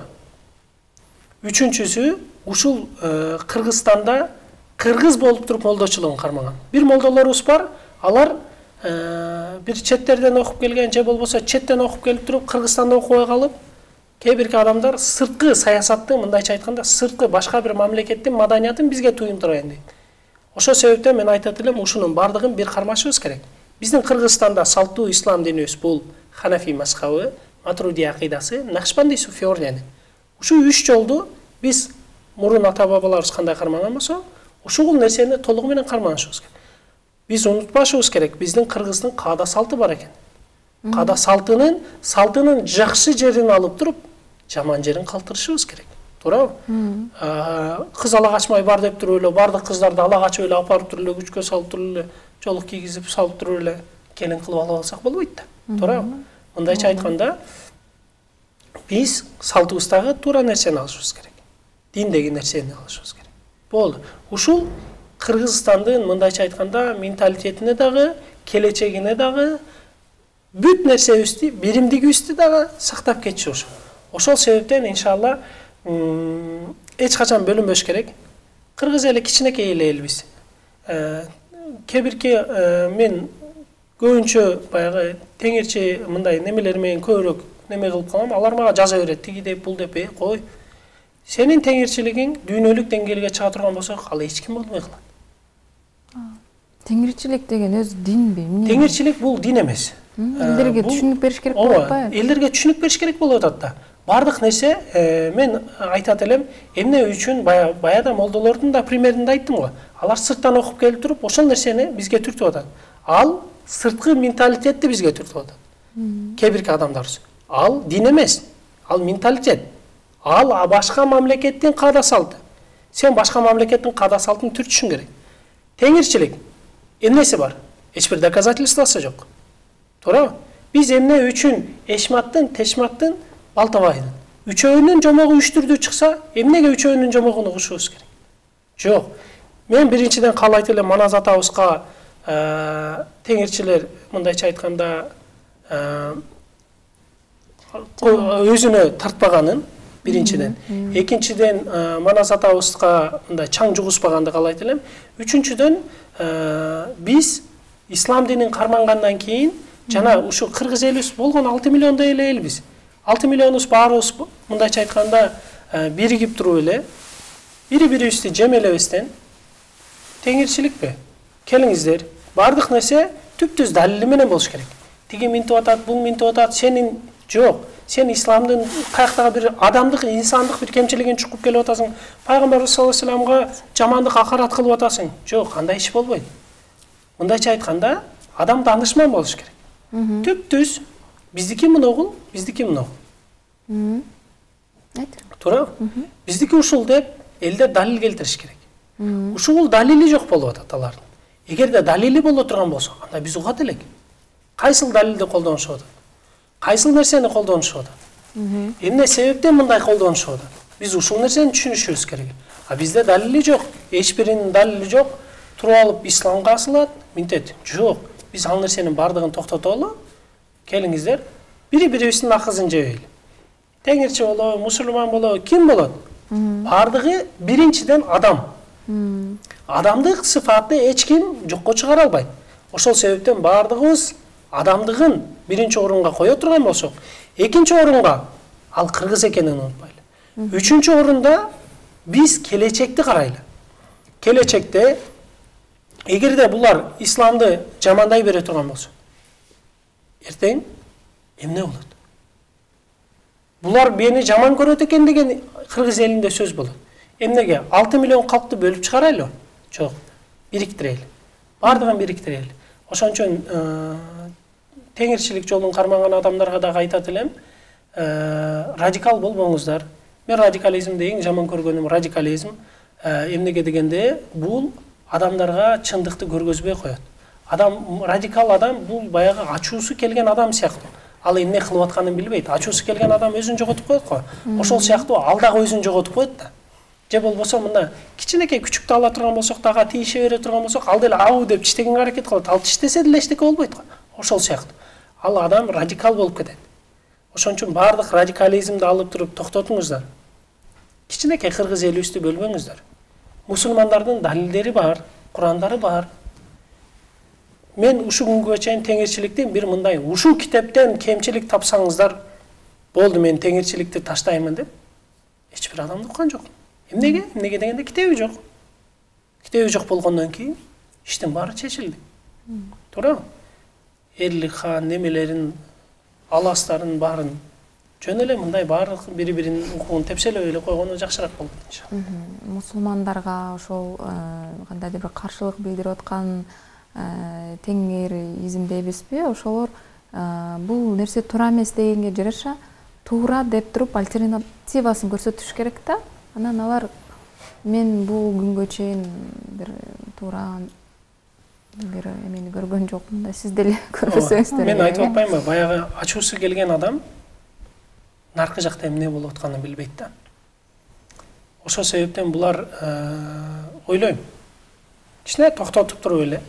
Үчүнчүсү ушул Кыргызстанда кыргыз болуп туруп молдочулугун кармаган. Бир молдолорубуз бар, алар бир четтерден окуп келген же болбосо четтен окуп келип туруп Кыргызстанда окубай калып, кээ бирки адамдар сырткы саясаттын, мындайча айтканда, сырткы башка бир мамлекеттин маданиятын бизге туюндурайын дейт. Ошол себептен мен айтат элем, ушунун бардыгын бир кармашыбыз керек. Биздин Кыргызстанда салттуу ислам динибиз бул Ханафи мазхабы, Матруди акыйдасы, Накшбанди суфи ордени. Ушу үч жолду биз мурун ата-бабаларыбыз кандай кармаган болсо, ушул нерсени толугу менен карманышыбыз керек. Биз унутпашыбыз керек, биздин Кыргыздын каада салты бар экен. Каада салтынын, салтынын жакшы жерин алып туруп, жаман жерин калтырышыбыз керек. Туурабы? Кыз ала качмай бар деп туруп эле, бардык кыздарды ала качып эле апарып туруп эле, күчкө салып туруп эле, жолук кийгизип салып туруп эле келин кылып алып алсак болбойт да. Туурабы? Мындайча айтканда, биз салтыбыздагы туура нерсени алышыбыз керек. Диндеги нерсени алышыбыз керек. Болду. Ушул Кыргызстандын мындайча айтканда менталитетине дагы, келечегине дагы, бүт нерсебизди, биримдигибизди дагы сактап кетиши ошол. Ошол себептен иншалла эч качан бөлүнбөш керек. Кыргыз эли кичинекей эле элбиз. Кээ бирки мен көбүнчө баягы теңирчи мындай немелер менен көбүрөөк неме кылып калам. Алар мага жаза берет, тиги деп, бул деп, кой. Сенин теңирчилигиң дүйнөлүк деңгээлге чыга турган болсо, ал эч ким болбой калат. Теңирчилик деген өзү динби? Теңирчилик бул дин эмес. Элдерге түшүнүк бериш керек болуп атпайбы? Элдерге түшүнүк бериш керек болуп атат да. Бардык нерсе мен айтат элем, эмне үчүн баяда молдолордун да примерин да айттым го. Алар сырттан окуп келип туруп, ошол нерсени бизге түртүп атат. Ал сырткы менталитетти бизге түртүп атат. Кээ бирки адамдарыбыз. Ал дин эмес, ал менталитет. Ал башка мамлекеттин каада салты. Сен башка мамлекеттин каада салтын түртүшүң керек. Теңирчилик эмнеси бар? Эч бир доказательствосы жок. Туурабы? Биз эмне үчүн Эшматтын, Тешматтын, Балтабайдын үчөөнүн жомогу үч түрдүү чыкса, эмнеге үчөөнүн жомогун угушубуз керек? Жок. Мен биринчиден каалайт элем Манас атабызга теңирчилер мындайча айтканда өзүнө тартпаганын биринчиден. Экинчиден Манас атабызга мындай чаң жугузбаганды каалайт элем. Үчүнчүдөн биз ислам динин кармангандан кийин жана ушу кыргыз элибиз болгон алты миллиондой эле элбиз. алты миллионубуз баарыбыз мындайча айтканда биригип туруп эле бири-бирибизди жемелебестен теңирчиликпи? Келиңиздер, бардык нерсе түптүз далили менен болуш керек. Тиги минтип атат, бул минтип атат, сенин жок. Сен исламдын каяктагы бир адамдык, инсандык бир кемчилигин чукуп келип атасың. Пайгамбар саллаллаху алейхи вассаламга жамандык акарат кылып атасың. Жок, андай иш болбойт. Мындайча айтканда, адам данышман болуш керек. Түптүз биздики мыногул, биздики мыногул. Туура? Биздики ушул деп элдер далил келтириш керек. Ушул далили жок болуп атат алардын. Эгерде далили боло турган болсо, анда биз угат элек. Кайсыл далилди колдонушуп атат? Кайсыл нерсени колдонушуп атат? Эмне себептен мындай колдонушуп атат? Биз ушул нерсени түшүнүшүбүз керек. А бизде далили жок, эч биринин далили жок. Туруп алып исламга асылат, минтет. Жок. Биз ал нерсенин бардыгын токтотобу? Келиңиздер, бири-бирибиздин акызын жебейли. Теңирчи болобу, мусулман болобу, ким болот? Бардыгы биринчиден адам. Адамдык сыфатты эч ким жокко чыгара албайт. Ошол себептен бардыгыбыз адамдыгын биринчи орунга кое турган болсок, экинчи орунга ал кыргыз экенин унутпайлы. Үчүнчү орунда биз келечекти карайлы. Келечекте эгерде булар исламды жамандай бере турган болсо, эртең эмне болот? Булар мени жаман көрөт экен деген кыргыз элинде сөз болот. Эмнеге? алты миллион калкты бөлүп чыгарайлы? Жок. Бириктирели. Бардыгын бириктирели. Ошон үчүн теңирчилик жолун кармаган адамдарга дагы айтат элем, радикал болбоңуздар. Мен радикализмди эң жаман көргөнүм радикализм. Эмнеге дегенде, бул адамдарга чындыкты көргөзбөй коет. Адам радикал адам бул баягы ачуусу келген адам сыяктуу. Ал эмне кылып атканын билбейт. Ачуусу келген адам өзүн жоготуп коет го. Ошол сыяктуу ал дагы өзүн жоготуп коет да. Же болбосо мында кичинекей күчүктү ала турган болсок, дагы тийише бере турган болсок, ал деле ау деп тиштегенге аракет кылат. Ал тиштесе деле эчтеке болбойт го. ошол сыяктуу ал адам радикал болуп кетет. Ошон үчүн баардык радикализмди алып туруп токтотуңуздар. Кичинекей кыргыз элибизди бөлбөңүздөр. Мусулмандардын далилдери бар, Курандары бар. Мен ушул күнгө чейин теңирчиликтин бир мындай ушул китептен кемчилик тапсаңыздар болду, мен теңирчиликти таштаймын деп эч бир адамды уккан жок. Эмнеге? Эмнеге дегенде китеби жок. Китеби жок болгондон кийин иштин баары чечилди. Туурабы? Эрлик хан немелерин, аластарын баарын жөн эле мындай баардык бири-биринин укугун тепселеп эле койгону жакшыраак болот иншалла. Мусулмандарга ошол кандайдыр бир каршылык билдирип аткан теңиризм дейбизби, ошолор бул нерсе туура эмес дегенге жараша туура деп туруп альтернативасын көрсөтүш керек да. Анан алар мен бул күнгө чейин бир туура бир эмени көргөн жокмун да, сиз деле көрбөсөңүздөр. Мен айтып атпаймынбы, баягы ачуусу келген адам наркы жакта эмне болуп атканын билбейт да. Ошол себептен булар ойлойм, кичине токтотуп туруп эле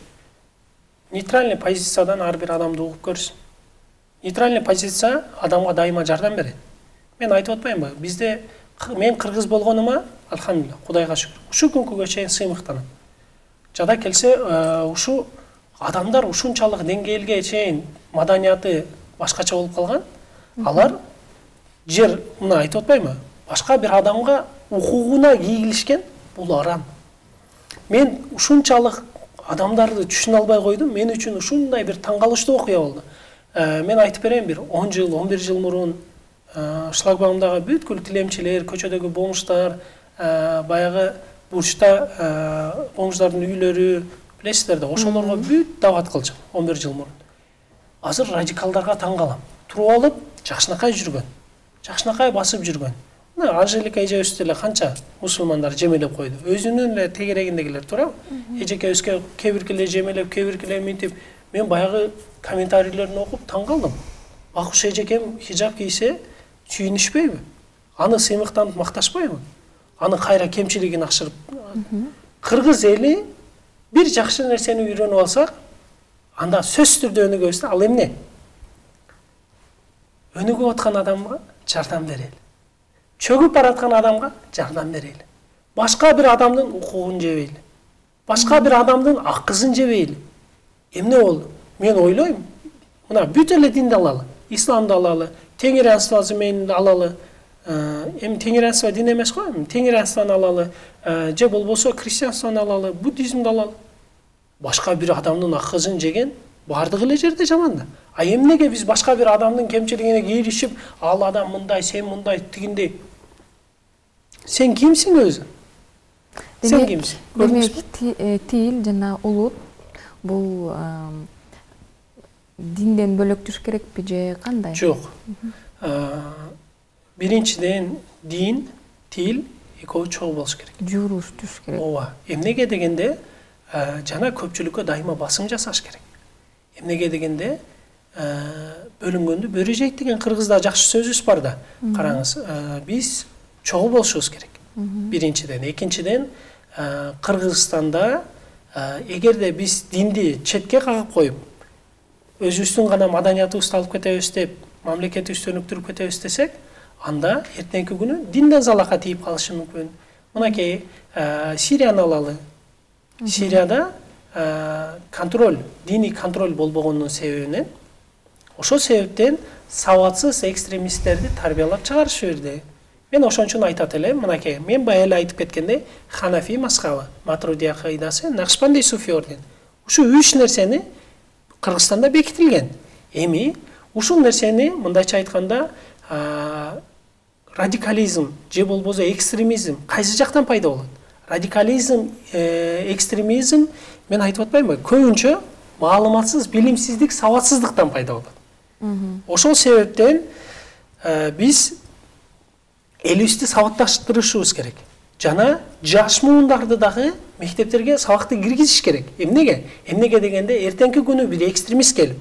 нейтральный позициядан ар бир адамды угуп көрсүн. Нейтральный позиция адамга дайыма жардам берет. Мен айтып атпаймынбы, бизде мен кыргыз болгонума алхамдулилла, Кудайга шүгүр. Ушул күнгө чейин сыймыктанам. Жада келсе, ушу адамдар ушунчалык деңгээлге чейин маданияты башкача болуп калган. Алар жер, мына айтып атпаймынбы, башка бир адамга укугуна ийгилишкен, бул арам. Мен ушунчалык адамдарды түшүнө албай койдум. Мен үчүн ушундай бир таң калыштуу окуя болду. Мен айтып берейин, бир он жыл, он бир жыл мурун шлагбаумдагы бүткүл тилемчилер, көчөдөгү бомждар, баягы бурчта бомждардын үйлөрү, билесиздер да, ошолорго бүт дават кылчу он бир жыл мурун. Азыр радикалдарга таң калам. Туруп алып, жакшынакай жүргөн, жакшынакай басып жүргөн. Мына Анжелика эжебизди эле канча мусулмандар жемелеп койду. Өзүнүн эле тегерегиндегилер, туурабы? Эжекебизге кээ биркилер жемелеп, кээ биркилер минтип, мен баягы комментарийлерин окуп таң калдым. Бакуш эжекем хижап кийсе сүйүнүшпөйбү? Аны сыймыктанып макташпайбы? Аны кайра кемчилигин ашырып. Кыргыз эли бир жакшы нерсени үйрөнүп алсак, анда сөзсүз түрдө өнүгөбүз да. Ал эмне? Өнүгүп аткан адамга жардам берели. Чөгүп бараткан адамга жардам берели. Башка бир адамдын укугун жебейли. Башка бир адамдын акызын жебейли. Эмне болду? Мен ойлойм, мына бүт эле динди алалы, исламды алалы, теңирянствосы менин алалы. Эми теңирянство дин эмес го, теңирянствону алалы, же болбосо христианствону алалы, буддизмди алалы. Башка бир адамдын акызын жеген бардыгы эле жерде жаман да. А эмнеге биз башка бир адамдын кемчилигине кийлишип, ал адам мындай, сен мындай, тигиндей. Сен кимсиң өзү? Сен кимсиң? Демек, тил жана улут бул динден бөлөктүш керекпи же кандай? Жок. Биринчиден дин, тил экөө чогуу болуш керек. Журуш түш керек. Ооба. Эмнеге дегенде жана көпчүлүккө дайыма басым жасаш керек. Эмнеге дегенде бөлүнгөндү бөрү жейт деген кыргызда жакшы сөзүбүз бар да. Караңыз, биз чогуу болушубуз керек. Биринчиден, экинчиден Кыргызстанда эгерде биз динди четке кагып коюп, өзүбүздүн гана маданиятыбызды алып кетебиз деп, мамлекетибизди өнүктүрүп кетебиз десек, анда эртеңки күнү динден залака тийип калышы мүмкүн. Мынакей Сирияны алалы. Сирияда контроль, диний контроль болбогонунун себебинен, ошол себептен сабатсыз экстремисттерди тарбиялап чыгарышы берди. Мен ошон үчүн айтат элем, мынакей, мен бая эле айтып кеткендей, Ханафи мазхабы, Матуридия кайдасы, Накшбанди суфи орден. Ушу үч нерсени Кыргызстанда бекитилген. Эми ушул нерсени мындайча айтканда, радикализм же болбосо экстремизм кайсы жактан пайда болот? Радикализм, экстремизм, мен айтып атпаймынбы, көбүнчө маалыматсыз, билимсиздик, сабатсыздыктан пайда болот. Ошол себептен биз элибизди сабатташтырышыбыз керек. Жана жаш муундарды дагы мектептерге сабакты киргизиш керек. Эмнеге? Эмнеге дегенде эртеңки күнү бир экстремист келип,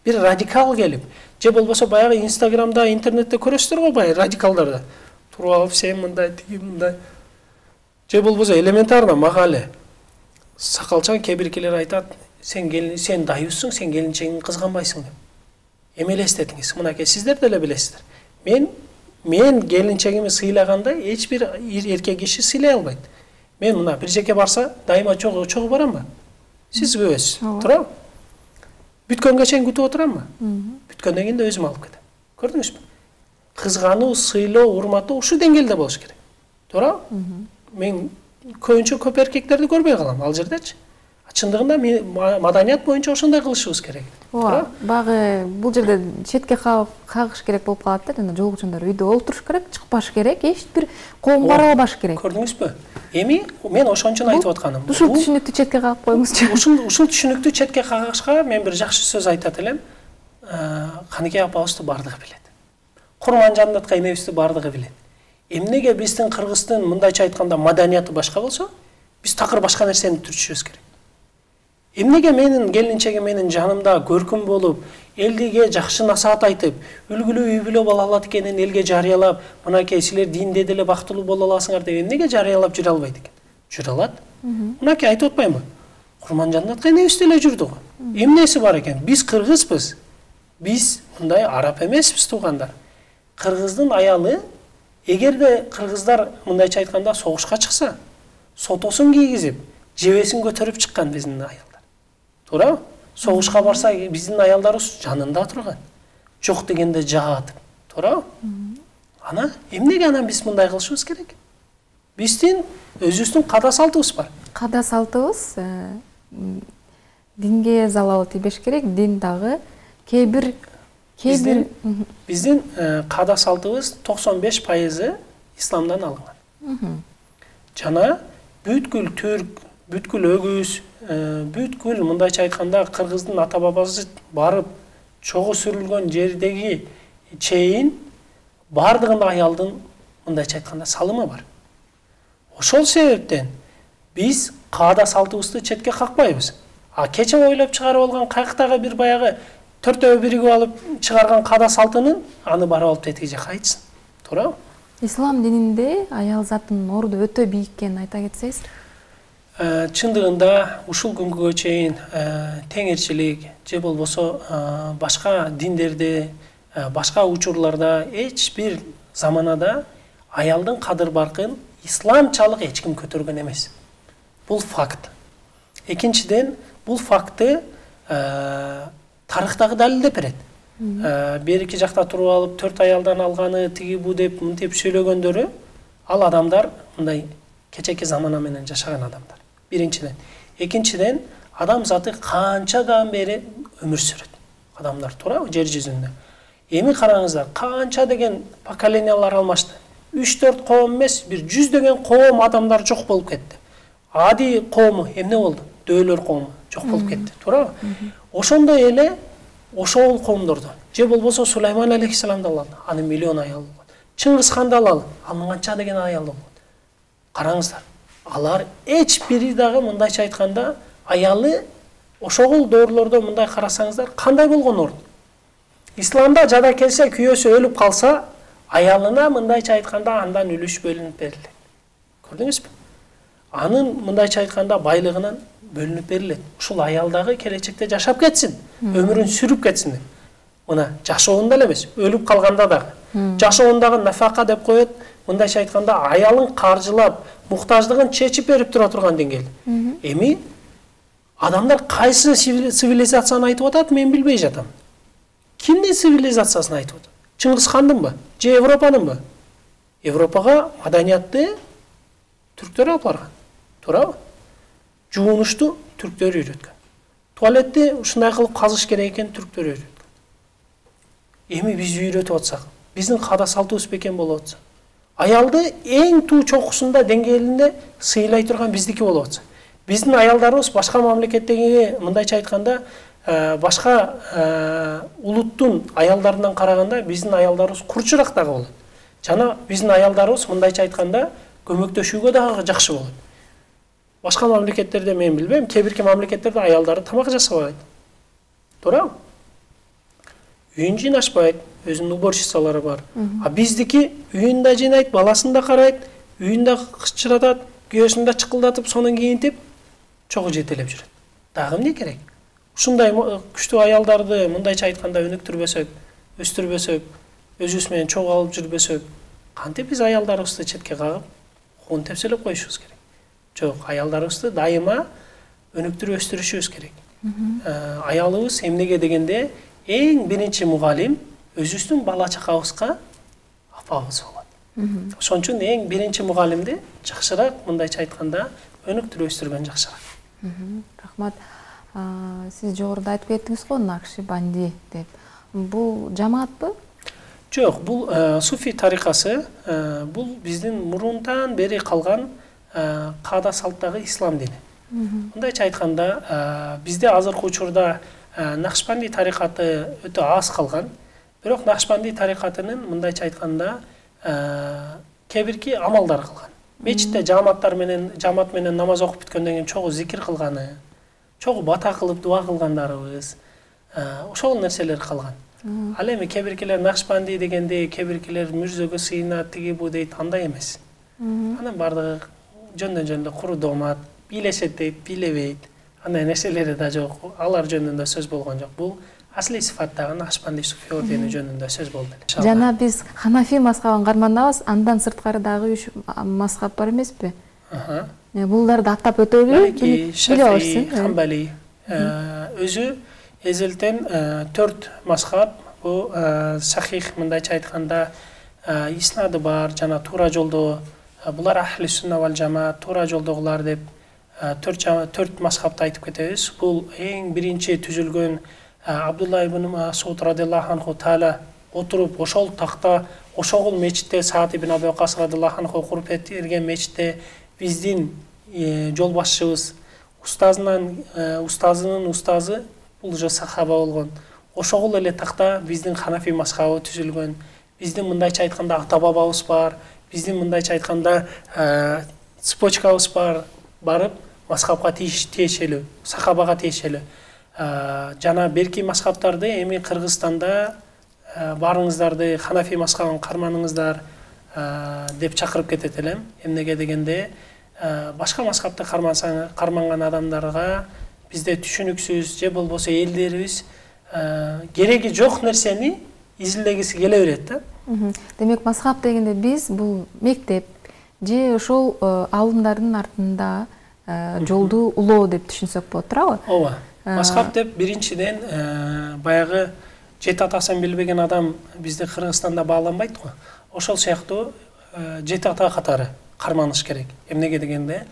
бир радикал келип, же болбосо баягы Инстаграмда, интернетте көрөсүздөр го баягы радикалдарды. Туруп алып, сен мындай, тиги мындай. Же болбосо элементарно мага эле сакалчан кээ биркилер айтат, сен келин сен дайыбысың, сен келинчегиңди кызганбайсың деп. Эми элестетиңиз, мынакей сиздер деле билесиздер. Мен мен келинчегими сыйлагандай эч бир эркек киши сыйлай албайт. Мен мына бир жерге барса, дайыма чогуу чогуу барамбы? Сиз күбөсүз, туурабы? Бүткөнгө чейин күтүп отурамбы? Бүткөндөн кийин да өзүм алып кетем. Көрдүңүзбү? Кызгануу, сыйлоо, урматтоо ушул деңгээлде болуш керек. Туурабы? Мен көбүнчө көп эркектерди көрбөй калам ал жердечи. Чындыгында маданият боюнча ошондой кылышыбыз керек. Ооба, багы бул жерде четке кагыш керек болуп калат да, жана жолугучундар үйдө олтуруш керек, чыкпаш керек, эч бир коомго аралабаш керек. Көрдүңүзбү? Эми мен ошон үчүн айтып атканым. Ушул түшүнүктү четке кагып коюңузчу. Ушул ушул түшүнүктү четке кагышка мен бир жакшы сөз айтат элем. Каныкей апабызды бардыгы билет. Курманжандаткай энебизди бардыгы билет. Эмнеге биздин кыргыздын мындайча айтканда маданияты башка болсо, биз такыр башка нерсени түрчүшүбүз керек. Эмнеге менин келинчегим менин жанымда көркүм болуп, элге жакшы насаат айтып, үлгүлүү үй бүлө боло алат экенин элге жарыялап, мынакей силер динде деле бактылуу боло аласыңар деп эмнеге жарыялап жүрө албайт экен? Жүрө алат. Мынакей айтып атпаймынбы? Курманжандаткай энебиз деле жүрдү го. Эмнеси бар экен? Биз кыргызбыз. Биз мындай араб эмеспиз, туугандар. Кыргыздын аялы, эгерде кыргыздар мындайча айтканда согушка чыкса, сотосун кийгизип, жебесин көтөрүп чыккан биздин аялдар. Туурабы? Согушка барса биздин аялдарыбыз жанында турган. Жок дегенде жаатып. Туурабы? Ана эмнеге анан биз мындай кылышыбыз керек? Биздин өзүбүздүн када салтыбыз бар. Када салтыбыз динге залал тийбеш керек, дин дагы кээ бир кээ бир биздин када салтыбыз токсон беш пайызы исламдан алынган. Жана бүткүл түрк, бүткүл өгүз, бүткүл мындайча айтканда кыргыздын ата бабасы барып чогуу сүрүлгөн жердеги чейин бардыгында аялдын мындайча айтканда салымы бар. Ошол себептен биз каада салтыбызды четке какпайбыз. А кече ойлоп чыгарып алган кайктагы бир баягы төртөө биригип алып чыгарган каада салтынын аны барып алып тетиги жака айтсын. Туурабы? Ислам дининде аял затынын орду өтө бийик экенин айта кетсеңиз. Чындыгында ушул күнгө чейин теңирчилик же болбосо башка диндерде, башка учурларда эч бир заманада аялдын кадыр-баркын исламчалык эч ким көтөргөн эмес. Бул факт. Экинчиден, бул факты тарыхтагы далилдеп берет. Берики жакта туруп алып төрт аялдан алганы тиги бу деп мынтип сүйлөгөндөрү ал адамдар мындай кечеки замана менен жашаган адамдар. Биринчиден. Экинчиден, адам заты канчадан бери өмүр сүрөт. Адамдар туурабы жер жүзүндө. Эми караңыздар, канча деген поколениялар алмашты. үч төрт коом эмес, бир жүздөгөн коом адамдар жок болуп кетти. Ади коому эмне болду? Дөөлөр коому жок болуп кетти, туурабы? Ошондой эле ошол коомдордо же болбосо Сулайман алейхиссаламды алалы, анын миллион аялы болот. Чыңгызханды алалы, анын канча деген аялы болот. Караңыздар, алар эч бири дагы мындайча айтканда аялы ошол доорлордо мындай карасаңыздар кандай болгон орун? Исламда жада келсе күйөөсү өлүп калса, аялына мындайча айтканда андан үлүш бөлүнүп берилет. Көрдүңүзбү? Анын мындайча айтканда байлыгынан бөлүнүп берилет. Ушул аялдагы келечекте жашап кетсин, өмүрүн сүрүп кетсин деп. Мына жашоонда эле эмес, өлүп калганда дагы. Жашоондагы нафака деп коет, мындайча айтканда аялын каржылап, муктаждыгын чечип берип тура турган деңгээл. Эми адамдар кайсы цивилизацияны айтып атат, мен билбей жатам. Кимдин цивилизациясын айтып атат? Чыңгызхандынбы? Же Европанынбы? Европага маданиятты түрктөр алып барган. Туурабы? Жуунушту түрктөр үйрөткөн. Туалетти ушундай кылып казыш керек экен түрктөр үйрөткөн. Эми биз үйрөтүп атсак, биздин када салтыбыз бекен болуп атса, аялды эң туу чокусунда деңгээлинде сыйлай турган биздики болуп атса, биздин аялдарыбыз башка мамлекеттеги мындайча айтканда башка улуттун аялдарынан караганда биздин аялдарыбыз курчураак дагы болот. Жана биздин аялдарыбыз мындайча айтканда көмөктөшүүгө дагы жакшы болот. Башка мамлекеттерде мен билбейм, кээ бирки мамлекеттерде аялдары тамак жасабайт. Туурабы? Үйүн жыйнашпайт, өзүнүн уборщицалары бар. А биздики үйүн да жыйнайт, баласын да карайт, үйүн да кычыратат, күйөөсүн да чыкылдатып, сонун кийинтип, чогуу жетелеп жүрөт. Дагы эмне керек? ушундай күчтүү аялдарды мындайча айтканда өнүктүрбөсөк, өстүрбөсөк, өзүбүз менен чогуу алып жүрбөсөк, кантип биз аялдарыбызды четке кагып, куун тепселеп коюшубуз керек? Жок, аялдарыбызды дайыма өнүктүрүп өстүрүшүбүз керек. Аялыбыз эмнеге дегенде эң биринчи мугалим өзүбүздүн бала чакабызга апабыз болот. Ошон үчүн эң биринчи мугалимди жакшыраак, мындайча айтканда, өнүктүрүп өстүргөн жакшыраак. Рахмат. Сиз жогоруда айтып кеттиңиз го, Накшибанди деп. Бул жамаатпы? Жок, бул суфи тарикасы, бул биздин мурунтан бери калган каада салттагы ислам дини. Мындайча айтканда, бизде азыркы учурда Накшибанди тарикаты өтө аз калган. Бирок Накшибанди тарикатынын мындайча айтканда кебирки амалдар кылган. Мечитте жамааттар менен, жамаат менен намаз окуп бүткөндөн кийин чогуу зикир кылганы, чогуу бата кылып дуа кылгандарыбыз, ошол нерселер калган. Ал эми кебиркилер Накшибанди дегенде кебиркилер мүрзөгө сыйынат, тиги бу дейт, андай эмес. Анын бардыгы жөндөн жөн куру доомат, бийлешет дейт, бийлебейт. Андай нерселери да жок. Алар жөнүндө сөз болгон жок. Бул асли сыфаттагы Накшибанди суфи ордени жөнүндө сөз болду. Жана биз Ханафи мазхабын карманабыз, андан сырткары дагы үч мазхаб бар эмеспи? Буларды аттап өтөлү. Малики, Шафии, Хамбали. Өзү эзелтен төрт мазхаб. Бул сахих, мындайча айтканда, иснады бар, жана туура жолдо. Булар ахли сунна вал жамаат, туура жолдогулар деп төрт мазхабты айтып кетебиз. Бул эң биринчи түзүлгөн Абдулла ибн Масуд радиаллаху анху таала отуруп ошол такта, ошол мечитте Саад ибн Аби Вакас радиаллаху анху куруп берген мечитте биздин жол башчыбыз, устазынан устазынын устазы бул уже сахаба болгон. Ошол эле такта биздин Ханафи мазхабы түзүлгөн. Биздин мындайча айтканда ата бабабыз бар, биздин мындайча айтканда цепочкабыз бар, барып мазхабка тиешелүү, сахабага тиешелүү. Жана берки мазхабтарды эми Кыргызстанда барыңыздарды Ханафи мазхабын карманыңыздар деп чакырып кетет элем. Эмнеге дегенде, башка мазхабты карманган адамдарга бизде түшүнүксүз же болбосо элдерибиз кереги жок нерсени изилдегиси келе берет да. Демек, мазхаб дегенде биз бул мектеп же ошол алымдардын артында жолду улоо деп түшүнсөк болот, туурабы? Ооба. Мазхаб деп биринчиден баягы жети атасын билбеген адам бизде Кыргызстанда бааланбайт го. Ошол сыяктуу жети ата катары карманыш керек. Эмнеге дегенде,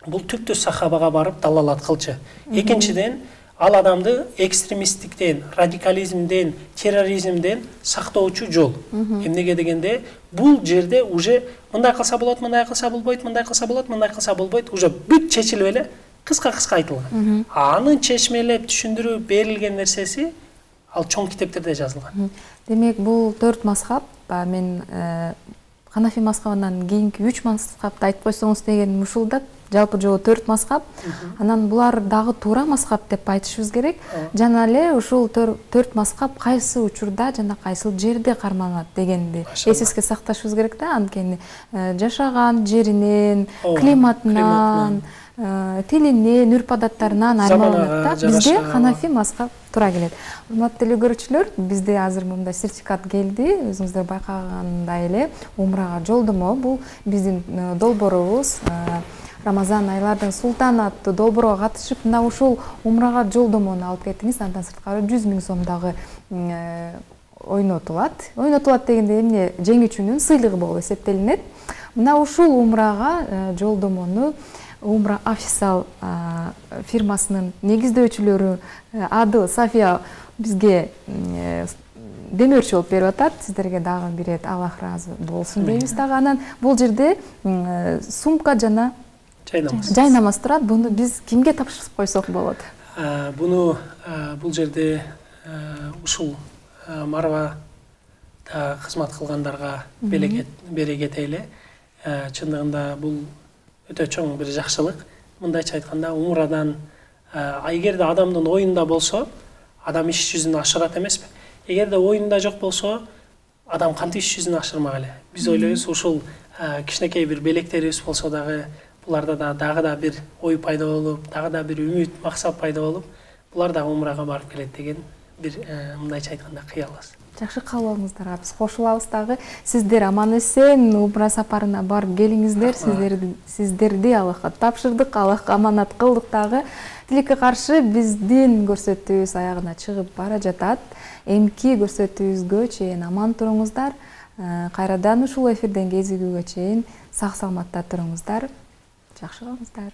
бул түптү сахабага барып далалат кылчу. Экинчиден, ал адамды экстремисттиктен, радикализмден, терроризмден сактоочу жол. Эмнеге дегенде, бул жерде уже мындай кылса болот, мындай кылса болбойт, мындай кылса болот, мындай кылса болбойт, уже бүт чечилип эле кыска-кыска айтылган. Анын чечмелеп түшүндүрүп берилген нерсеси ал чоң китептерде жазылган. Демек, бул төрт мазхаб, мен Ханафи мазхабынан кийинки үч мазхабты айтып койсоңуз деген ушул да, жалпы жоо төрт мазхаб. Анан булар дагы туура мазхаб деп айтышыбыз керек. Жана эле ушул төрт мазхаб кайсы учурда жана кайсыл жерде карманат дегенди эсеске сакташыбыз керек да. Анткени жашаган жеринен, климатынан, тилинен, үрп-адаттарынан аймагында бизде Ханафи мазхаб туура келет. Урматтуу телекөрүүчүлөр, бизде азыр мындай сертификат келди. Өзүңүздөр байкагандай эле умрага жолдомо. Бул биздин долбоорубуз Рамазан айлардын султаны аттуу долбоорго катышып, мына ушул умрага жолдомону алып кеттиңиз. Андан сырткары жүз миң сом дагы ойнотулат. Ойнотулат дегенде эмне, жеңүүчүнүн сыйлыгы болуп эсептелинет. Мына ушул умрага жолдомону Умра официал фирмасынын негиздөөчүлөрү Адыл, Сафия бизге демөөрчү болуп берип атат. Сиздерге дагы бирет, Аллах ыраазы болсун дейбиз дагы. Анан бул жерде сумка жана жайнамаз турат. Буну биз кимге тапшырып койсок болот? Буну бул жерде ушул Марвада кызмат кылгандарга бере кетели. Чындыгында бул өтө чоң бир жакшылык. Мындайча айтканда, умрадан эгерде адамдын оюнда болсо, адам иш жүзүн ашырат эмеспи? Эгерде оюнда жок болсо, адам кантип иш жүзүн ашырмак эле? Биз ойлойбуз, ушул кичинекей бир белектерибиз болсо дагы, буларда да дагы да бир ой пайда болуп, дагы да бир үмүт, максат пайда болуп, булар дагы умрага барып келет деген бир мындайча айтканда кыялыбыз. Жакшы каалооңуздарга биз кошулабыз дагы. Сиздер аман эсен умра сапарына барып келиңиздер. Сиздерди сиздерди Аллахка тапшырдык, Аллахка аманат кылдык дагы. Тилекке каршы биздин көрсөтүүбүз аягына чыгып бара жатат. Эмки көрсөтүүбүзгө чейин аман туруңуздар. Кайрадан ушул эфирден кезигүүгө чейин сак саламатта туруңуздар. Жакшы болуңуздар.